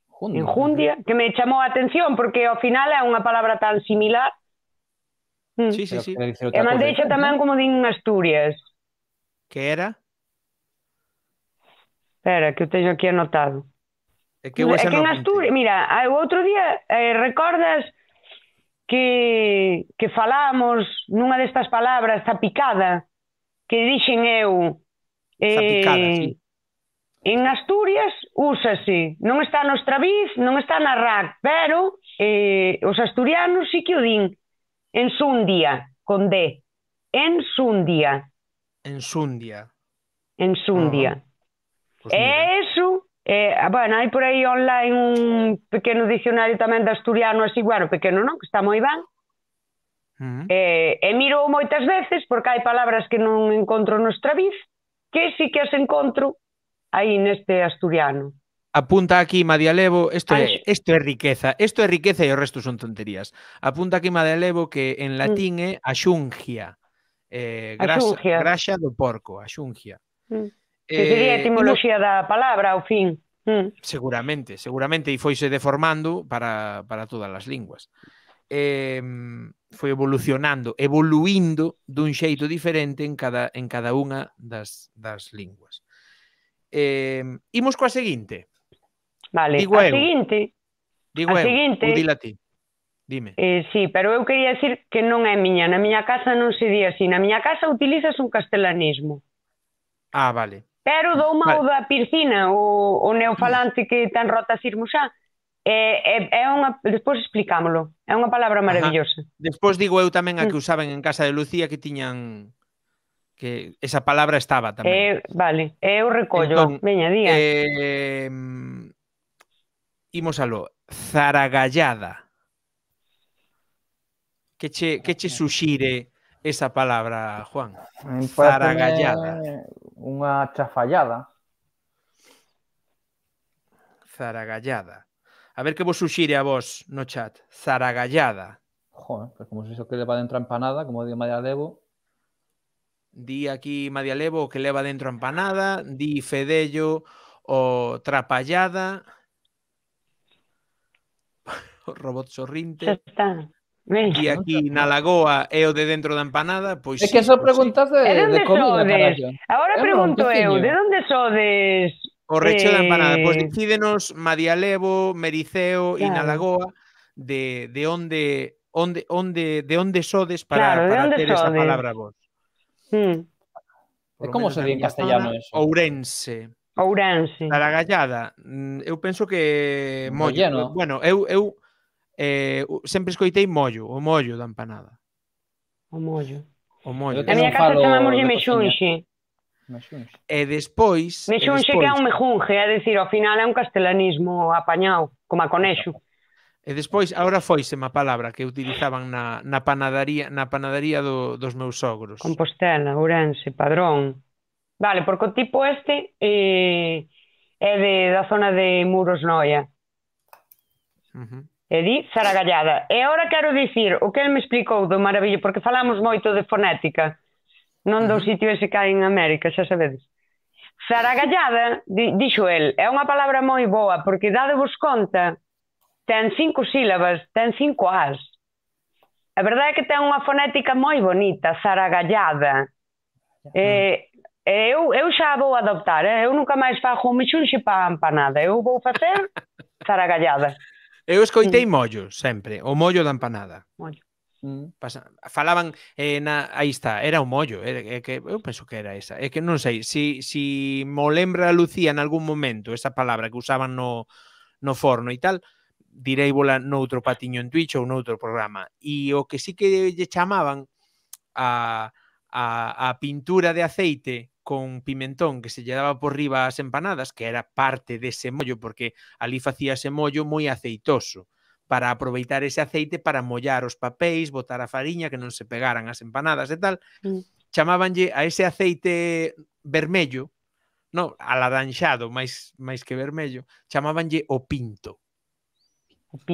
Jundia. Enjundia, que me chamou a atención porque ao final é unha palabra tan similar. Sí, sí, Pero sí. quere dicir E outra cousa mandeixa diferente, tamén non? como din en Asturias. Que era? Espera, que eu teño aquí anotado. É que eu É esa que non en apuntei. Asturias, mira, o outro día recordas que falamos nunha destas palabras, zapicada, que dixen eu, Zapicada, sí. en Asturias úsase, non está no Estraviz, non está na RAC, pero os asturianos sí que o din, ensundia, con D, ensundia, Ensundia. ensundia. Pois mira. E eso, bueno, hai por aí online un pequeno dicionario tamén de asturiano, así, bueno, pequeno non, que está moi ben, e miro moitas veces porque hai palabras que non encontro no Estraviz, que sí que as encontro aí neste asturiano. Apunta aquí Madialevo, isto é Anxo. riqueza, e o resto son tonterías. Apunta aquí Madialevo que en latín é axungia, Axungia. graxa do porco, axungia. Que sería a etimoloxía da palabra, ao fin. Seguramente, e foise deformando para todas as linguas. Foi evoluindo dun xeito diferente en cada unha das linguas. Imos coa seguinte. Vale, Digo a eu. seguinte, Ou dila ti. Dime. Sí, pero eu quería decir que non é miña. Na miña casa non se di así. Na miña casa utilizas un castelanismo. Ah, vale. Pero dou mau da Pircina, o neofalante que ten rotasismo xa, é unha... Despois explicámolo. É unha palabra maravillosa. Despois digo eu tamén a que usaban en casa de Lucía que tiñan... que esa palabra estaba tamén. Vale, eu recollo. Entón, Veña, día. Imos aló. Zaragallada. Que che suxire esa palabra, Juan? Zaragallada. Unha chafallada. Zaragallada. A ver que vos suxire a vos no chat. Zaragallada. Joder, pues como se iso que leva dentro a empanada, como di Madialevo. Di aquí Madialevo o que leva dentro a empanada, di Fedello o trapallada. O robot sorrinte. Xa está. Di aquí na lagoa é o de dentro da empanada, pois É que eso preguntas de comida, carallo. Agora pregunto eu, de onde sodes? O recheo da empanada, pois decídenos Madialevo, Mericeo e na lagoa de onde sodes para ter esa palabra vos. E como se di en castellano eso? Ourense. Zaragallada. Eu penso que mollo. Bueno, eu sempre escoitei mollo, o mollo da empanada. O mollo. Na miña casa chamámoslle mexunxe. E despois... Mexunxe que é un mejunje, é dicir, ao final é un castelanismo apañado, como a conexo. E despois, agora foisema a palabra que utilizaban na panadería dos meus sogros. Compostela, Ourense, Padrón. Vale, porque o tipo este é da zona de Muros Noia. E di Zaragallada. E agora quero dicir o que ele me explicou do maravillo, porque falamos moito de fonética, non do sitio ese que hai en América, xa sabedes. Zaragallada, dixo el, é unha palabra moi boa, porque dadevos conta, ten 5 sílabas, ten 5 as. A verdade é que ten unha fonética moi bonita, Zaragallada. Eu xa vou adoptar, eu nunca máis fago un mexunxe para empanada, eu vou facer Zaragallada. Eu escoitei mollo, sempre. O mollo da empanada. Mollo. Falaban, aí está, era o mollo. Eu penso que era esa. É que non sei, si mo lembra a Lucía en algún momento esa palabra que usaban no forno e tal, direi bola noutro patiño en Twitch ou noutro programa. E o que sí que lle chamaban a pintura de aceite con pimentón que se lle daba por riba ás empanadas, que era parte dese mollo, porque ali facíase mollo moi aceitoso, para aproveitar ese aceite para mollar os papéis, botar a fariña, que non se pegaran as empanadas e tal. Chamábanlle a ese aceite vermello, non, alaranxado, máis que vermello, chamábanlle o pinto.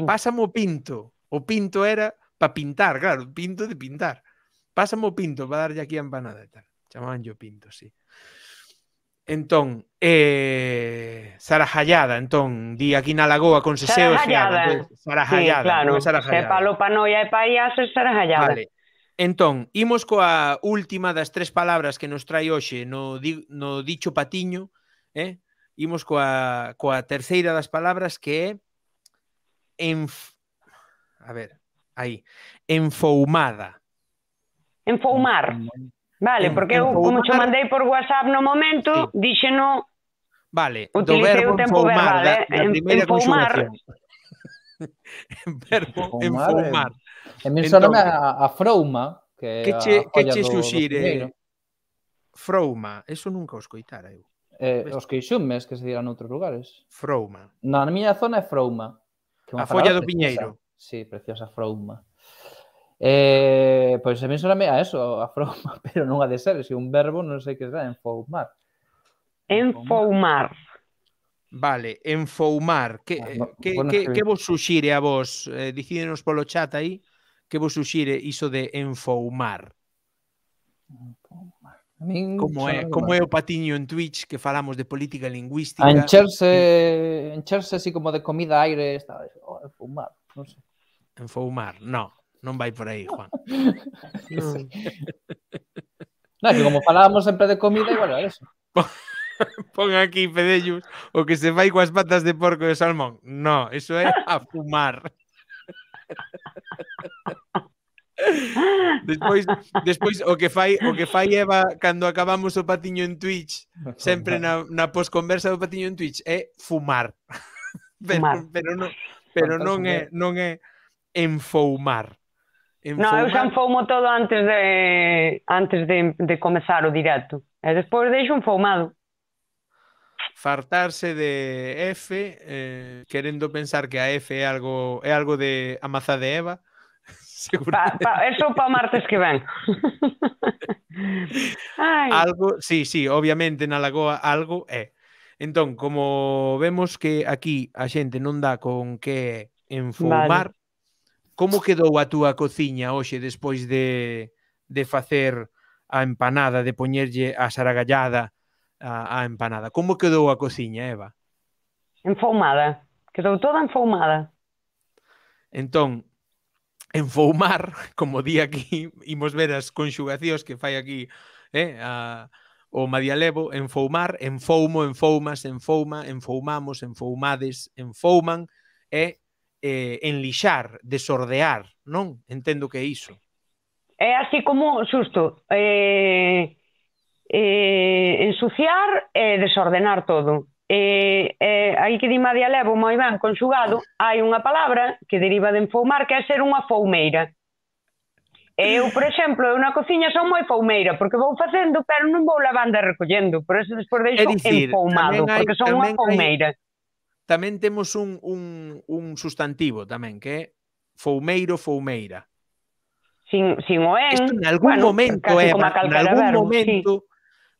Pásame o pinto. O pinto era para pintar, claro, pinto de pintar. Pásame o pinto para darlle aquí a empanada e tal. Chamabanlle o pinto, sí. Entón, Sarajallada, entón, di aquí na lagoa con seseo e feada. Sarajallada. Sí, claro. Se palo pa noia e pa ia ser Sarajallada. Vale. Entón, imos coa última das 3 palabras que nos trai hoxe no dicho patiño, imos coa terceira das palabras que é a ver, aí, enfoumada. Enfoumar. Vale, porque eu, como te mandei por WhatsApp no momento, díxeno... Vale, do verbo enfoumar, da primeira conxugación. Verbo enfoumar. E me soname a frouma, que che suxire? Frouma, eso nunca o escoitara eu. Os queixumes, que se dirán noutros lugares. Frouma. Na miña zona é frouma. A folla do piñeiro. Sí, preciosa frouma. Pois a mí soname a eso, a frouma, pero non ha de ser, se un verbo non sei que será, enfoumar. Enfoumar. Vale, enfoumar. Que vos suxire a vos? Dicídenos polo chat aí, que vos suxire iso de enfoumar? Como é o patiño en Twitch que falamos de política lingüística? Encherse así como de comida, aire, enfoumar, non sei. Enfoumar, non vai por aí, Juan. Non, que como falábamos sempre de comida, igual era eso. Pon aquí, Fedellos, o que se fai coas patas de porco de salmón. No, eso é a fumar. Despois o que fai Eva cando acabamos o patiño en Twitch, sempre na posconversa do patiño en Twitch, é fumar. Pero non é enfoumar. Non, eu xa enfoumo todo antes de comezar o directo. E despois deixo enfoumado. Fartarse de F, querendo pensar que a F é algo de a mazá de Eva. Eso para o martes que ven. Algo, sí, obviamente na lagoa algo é. Entón, como vemos que aquí a xente non dá con que enfoumar, como quedou a túa cociña hoxe despois de facer a empanada, de poñerlle a saragallada a empanada? Como quedou a cociña, Eva? Enfoumada. Quedou toda enfoumada. Entón, enfoumar, como di aquí, imos ver as conxugacións que fai aquí o Madialevo, enfoumar, enfoumo, enfoumas, enfouma, enfoumamos, enfoumades, enfouman, enlixar, desordear, non? Entendo que é iso. É así como, xusto, ensuciar e desordenar todo. Aí que di Madialevo moi ben conxugado, hai unha palabra que deriva de enfoumar que é ser unha foumeira. Eu, por exemplo, na cociña son moi foumeira porque vou facendo, pero non vou lavando e recollendo, por eso despois deixo enfoumado, porque son unha foumeira. Tamén temos un substantivo tamén, que é foumeiro, foumeira. Sin o en. Isto en algún momento, Eva,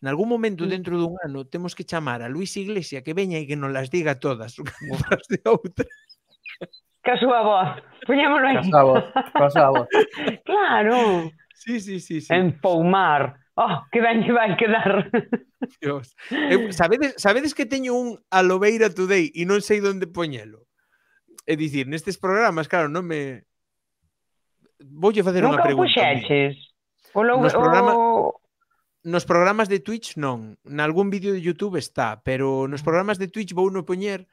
en algún momento dentro dun ano temos que chamar a Luis Iglesia que veña e que nos las diga todas unhas de outra. Que a súa voz. Poñémolo aí. Que a súa voz. Claro. Sí. Enfoumar. Oh, que ben que vai quedar. Dios. Sabedes que teño un Alobeira Today e non sei onde poñelo? É dicir, nestes programas, claro, non me... Voulle facer unha pregunta. Nunca o puxeches? Nos programas de Twitch non. Nalgún vídeo de YouTube está, pero nos programas de Twitch vou no poñer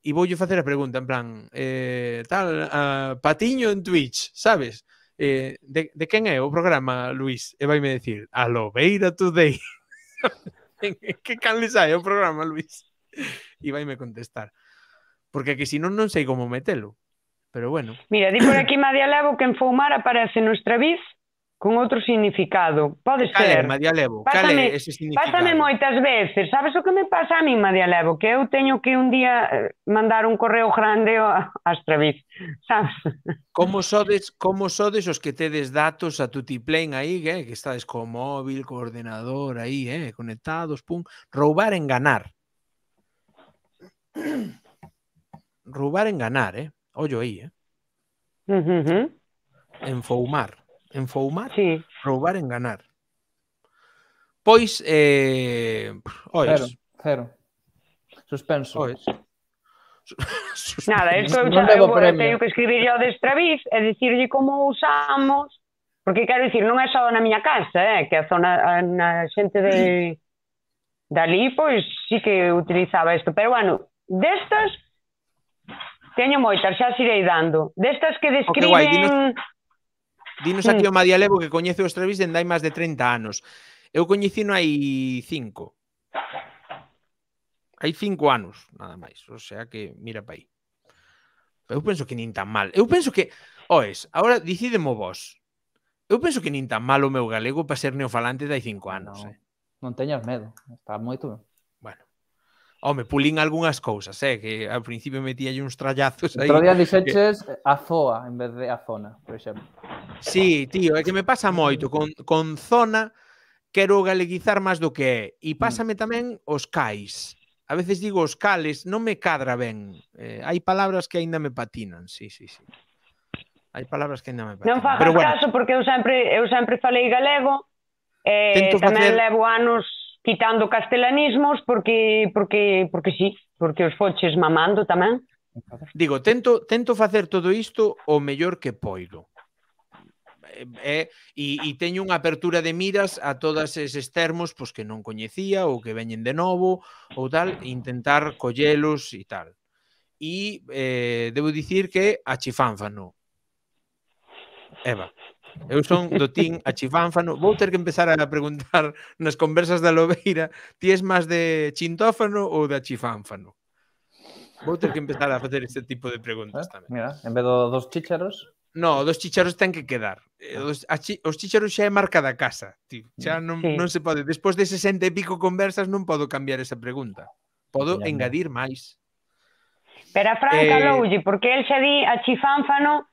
e voulle facer a pregunta, en plan, patiño en Twitch, sabes? De quen é o programa, Luis? E vaime decir, Alobeira Today. Que canle sai o programa, Luis? E vaime contestar. Porque que si non sei como metelo. Pero bueno. Mira, di por aquí Madialevo que enfoumar aparece no Estraviz con outro significado. Pode Cal é, ser. Madia Levo? Cal é ese significado? Pásame moitas veces. Sabes o que me pasa a mí, Madia Levo? Que eu teño que un día mandar un correo grande a Astraviz, sabes? Como sodes os que tedes datos a tutiplén aí, que estades co móvil, co ordenador aí, conectados, pum. Roubar, enganar. Roubar, enganar, ollo aí, Enfoumar. Enfoumar, Sí. roubar, enganar. Pois, ois. Cero. Suspenso. Ois. Nada, isto eu Non levo premio. teño que escribir ao de Astraviz e dicirlle como usamos, porque quero dicir, non é só na miña casa, que a zona, na xente de dali, pois sí que utilizaba isto, pero bueno, destas teño moitas, xa as irei dando. Destas que describen... guai, dinos aquí o Madia Levo que coñece o Astraviz dende hai máis de 30 anos. Eu coñecino hai 5. Hai 5 anos, nada máis. O sea que, mira pa aí. Eu penso que nin tan mal. Eu penso que, oes, agora dicidemo vos. Eu penso que nin tan mal o meu galego para ser neofalante de hai 5 anos. Non teñas medo. Está moito. Bueno. Home, pulín algunhas cousas, que ao principio metíalle uns trallazos aí. Outro día dixeches a zoa en vez de a zona, por exemplo. Sí, tío, é que me pasa moito. Con zona quero galeguizar máis do que é. E pásame tamén os cais. A veces digo os cales, non me cadra ben. Hai palabras que aínda me patinan, sí. Hai palabras que aínda me patinan. Non fagas caso, porque eu sempre falei galego, tamén levo anos quitando castelanismos, porque sí, porque os foches mamando tamén. Digo, tento facer todo isto o mellor que poido. E teño unha apertura de miras a todos eses termos pois, que non coñecía ou que veñen de novo ou tal, intentar collelos e tal. E debo dicir que achifánfano. Eva, eu son do team achifánfano. Vou ter que empezar a preguntar nas conversas da Lobeira, ti és máis de chintófano ou de achifánfano? Vou ter que empezar a facer este tipo de preguntas tamén. Mira, en vez dos chícharos... No, dos chícharos ten que quedar. Os chícharos xa é marca da casa, tío. Xa non se pode. Despois de 60 e pico conversas non podo cambiar esa pregunta. Podo engadir máis. Pero a Fran caloulle, porque el xa di a chifánfano,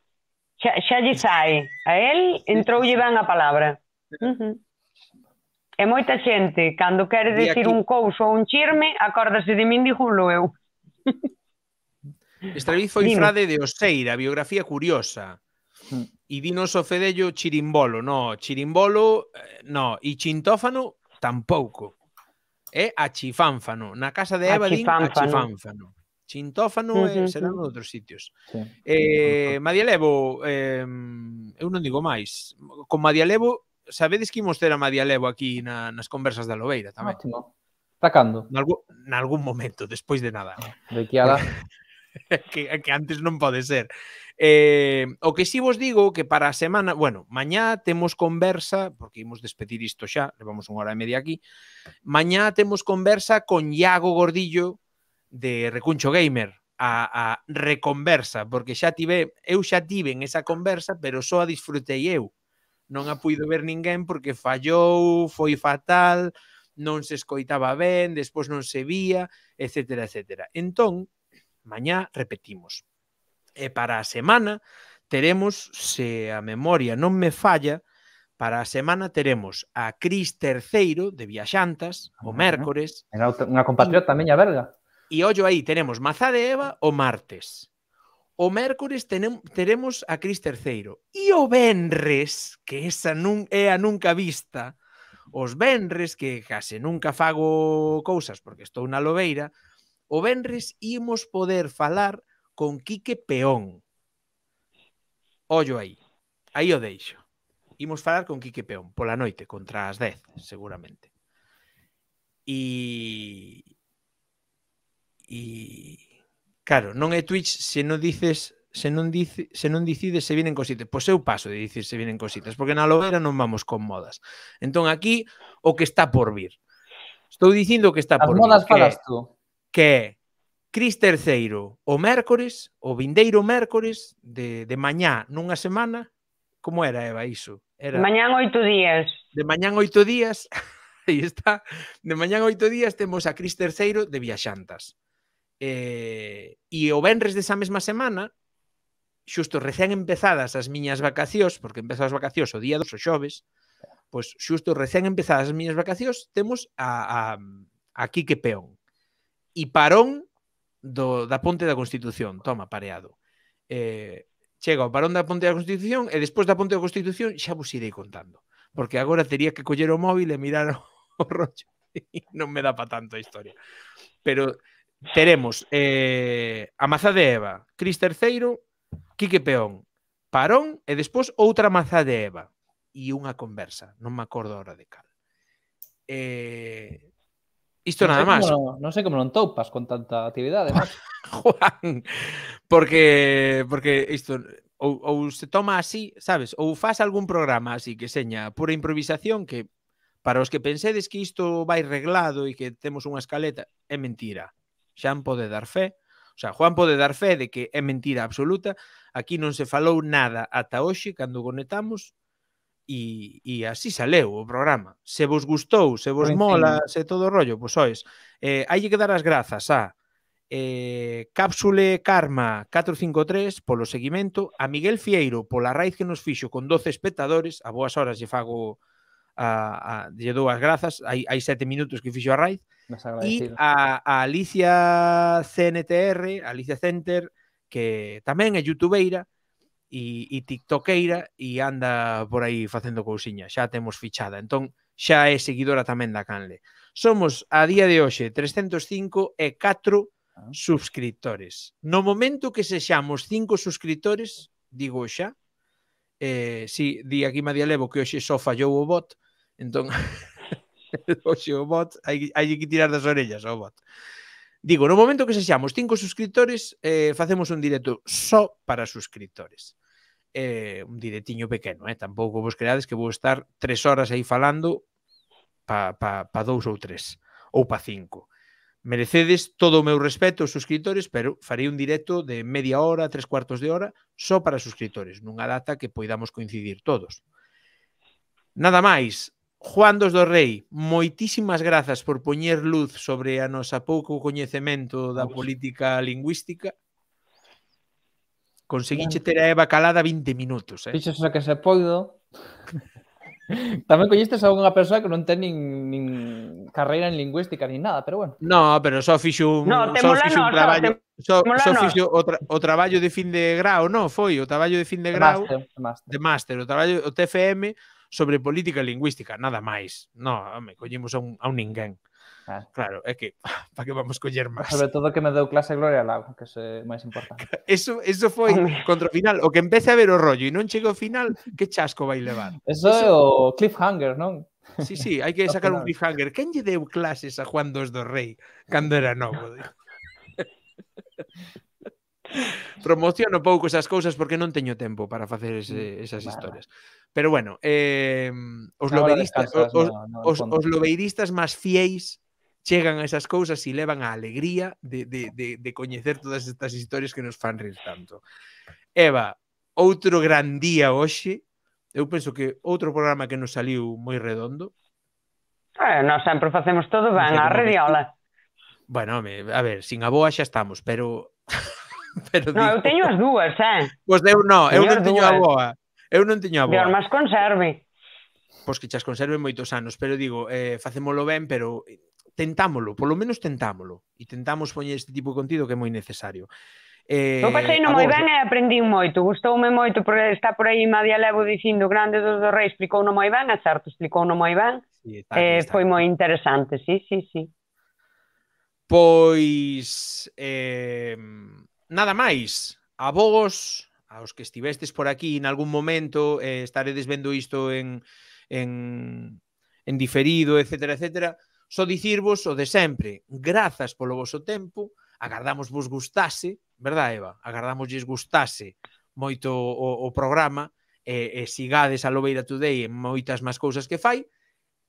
xa lle sai. A el entroulle ben a palabra. E moita xente, cando quere decir un couso ou un chirme, acórdase de min, dígolo eu. Astraviz foi frade de Oseira, biografía curiosa. E dinos o Fedello chirimbolo. No, chirimbolo, no. E chintófano, tampouco. É achifánfano. Na casa de Eva din achifánfano. Chintófano serán outros sitios. Madia Levo, eu non digo máis. Con Madia Levo, sabedes que imos ter a Madia Levo aquí nas conversas da Lobeira tamén? Ótimo. Está cando? Nalgún momento, despois de nada. De que ala... que antes non pode ser. O que si vos digo que para a semana, bueno, mañá temos conversa, porque imos despedir isto xa, levamos 1 hora e media aquí. Mañá temos conversa con Iago Gordillo de Recuncho Gamer, a reconversa, porque eu xa tive en esa conversa, pero só a disfrutei eu. Non a puido ver ninguén porque fallou, foi fatal, non se escoitaba ben, despois non se vía, etcétera, etcétera. Entón, mañá repetimos. E para a semana teremos, se a memoria non me falla, para a semana teremos a Cris Terceiro de Viaxantas, o mércores. Era unha compatriota miña verga. E ollo aí, tenemos Mazá de Eva o martes. O mércores teremos a Cris Terceiro. E o venres, que esa é a nunca vista, os venres, que case nunca fago cousas porque estou na Lobeira, o venres imos poder falar con Quique Peón. Ollo aí. Aí o deixo. Imos falar con Quique Peón pola noite, contra as 10, seguramente. E claro, non é Twitch se non dices, se non dicides se vienen cositas. Pois eu paso de dicir se vienen cositas, porque na Lobeira non vamos con modas. Entón aquí o que está por vir. Estou dicindo que está por vir. As modas falas tú. Que é Cris Terceiro o mércores, o vindeiro mércores de mañá nunha semana, Como era, Eva, iso? De mañán 8 días. De mañán 8 días, aí está, de mañán 8 días temos a Cris III de Viaxantas. E o venres desa mesma semana, xusto recén empezadas as miñas vacacións, porque empezou as vacacións o día 2, o xoves, pois xusto recén empezadas as miñas vacacións, temos a Quique Peón. E parón da Ponte da Constitución, toma, pareado. Chega o parón da Ponte da Constitución e despois da Ponte da Constitución xa vos irei contando. Porque agora teria que coller o móvil e mirar o rollo e non me dá pa tanto a historia. Pero teremos a Mazá de Eva, Cris III, Quique Peón, parón e despois outra Mazá de Eva e unha conversa, non me acordo ahora de cal. Isto nada máis. Non sei como non toupas con tanta actividade, macho. Juan, porque isto ou se toma así, sabes, ou faz algún programa así que seña pura improvisación que para os que pensedes que isto vai reglado e que temos unha escaleta, é mentira. Xan pode dar fe, o sea, Juan pode dar fe de que é mentira absoluta, aquí non se falou nada ata hoxe cando conectamos e así saleu o programa. Se vos gustou, se vos mola, se todo o rollo, pois sois. Hai que dar as grazas a Cápsule Karma 453 polo seguimento, a Miguel Fieiro pola raíz que nos fixo con 12 espectadores, a boas horas lle fago lle dou as grazas, hai 7 minutos que fixo a raíz, e a Alicia CNTR, Alicia Center, que tamén é youtubeira e tiktokeira e anda por aí facendo cousiña, xa temos fichada, entón xa é seguidora tamén da canle. Somos a día de hoxe 305 e 4 subscriptores. No momento que sexamos 5 subscriptores, digo xa, si, di aquí Madia Levo que hoxe só fallou o bot, entón hoxe o bot hai que tirar das orellas ao bot. Digo, no momento que sexamos 5 subscriptores, facemos un directo só para subscriptores. Un directiño pequeno, tampouco vos creades que vou estar 3 horas aí falando pa 2 ou 3 ou pa 5. Merecedes todo o meu respeto aos subscriptores, pero farei un directo de media hora, 3/4 de hora, só para subscriptores, nunha data que poidamos coincidir todos. Nada máis, Juan dos do Rei, moitísimas grazas por poñer luz sobre a nosa pouco coñecemento da política lingüística. Conseguiche ter a Eva calada 20 minutos. Fixes o que se poido. Tamén coñestes a unha persoa que non ten nin carreira en lingüística ni nada, pero bueno. No, pero só fixo un traballo, só fixo o traballo de fin de grao, non, foi o traballo de fin de grao de máster, o traballo o TFM sobre política lingüística, nada máis. No, home, collemos a un ninguén. Claro, é que para que vamos coller máis. Sobre todo que me deu clase Gloria Lago, que é máis importante. Eso foi contra o final, o que empece a ver o rollo e non chega ao final, que chasco vai levar. Eso é o cliffhanger, non? Sí, hai que sacar un cliffhanger. Quen lle deu clases a Juan dos do Rei cando era novo? Promociono pouco esas cousas porque non teño tempo para facer esas historias. Pero bueno, os lobeiristas máis fieis chegan a esas cousas e levan a alegría de coñecer todas estas historias que nos fan rir tanto. Eva, outro gran día hoxe. Eu penso que outro programa que nos saliu moi redondo. Nós sempre facemos todo ben, a rediola. Bueno, a ver, sin a boa xa estamos, pero eu teño as dúas, Pois eu non teño a boa. Eu non teño a boa. Dios, mas conserve. Pois que chas conserve moitos anos, pero digo, facémolo ben, pero tentámolo, polo menos tentámolo. E tentamos poñer este tipo de contido que é moi necesario. Eu pasei non moi ben e aprendí moito. Gustoume moito, porque está por aí Madia Levo dicindo Grande dos do Rei, explicou non moi ben, é certo, explicou non moi ben. Foi moi interesante, sí. Pois nada máis. A vos, aos que estivestes por aquí en algún momento, estaredes vendo isto en diferido, etcétera, etcétera, só dicirvos o de sempre. Grazas polo voso tempo, agardamos vos gustase, verdad, Eva? Agardamos lles gustase moito o programa e sigades a Lobeira Today en moitas máis cousas que fai.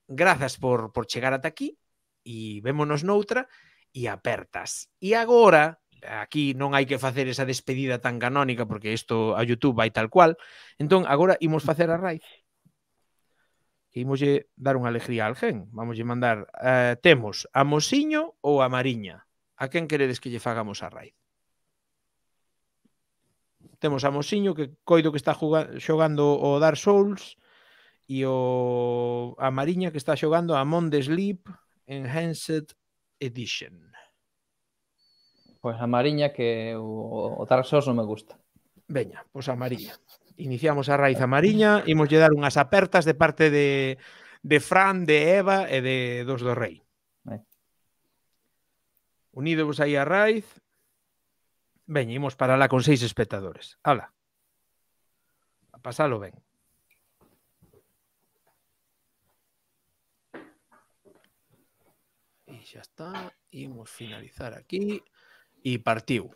Grazas por chegar ata aquí e vémonos noutra e apertas. E agora, aquí non hai que facer esa despedida tan canónica porque isto a YouTube vai tal cual. Entón, agora imos facer a raíz. Imoslle dar unha alegría a alguén. Vamoslle mandar, temos a Mosiño ou a Mariña. A quen queredes que lle fagamos a raíz? Temos a Mosiño, que coido que está xogando o Dark Souls, e a Mariña, que está xogando a Among the Sleep Enhanced Edition. Pois a Mariña, que o Dark Souls non me gusta. Veña, pois a Mariña. Iniciamos a raíz a Mariña, imoslle dar unhas apertas de parte de Fran, de Eva e de dos do Rei. Unidovos aí a raíz. Veña, imos para lá con 6 espectadores. Ala. A pasalo ben. E xa está. Imos finalizar aquí. E partiu.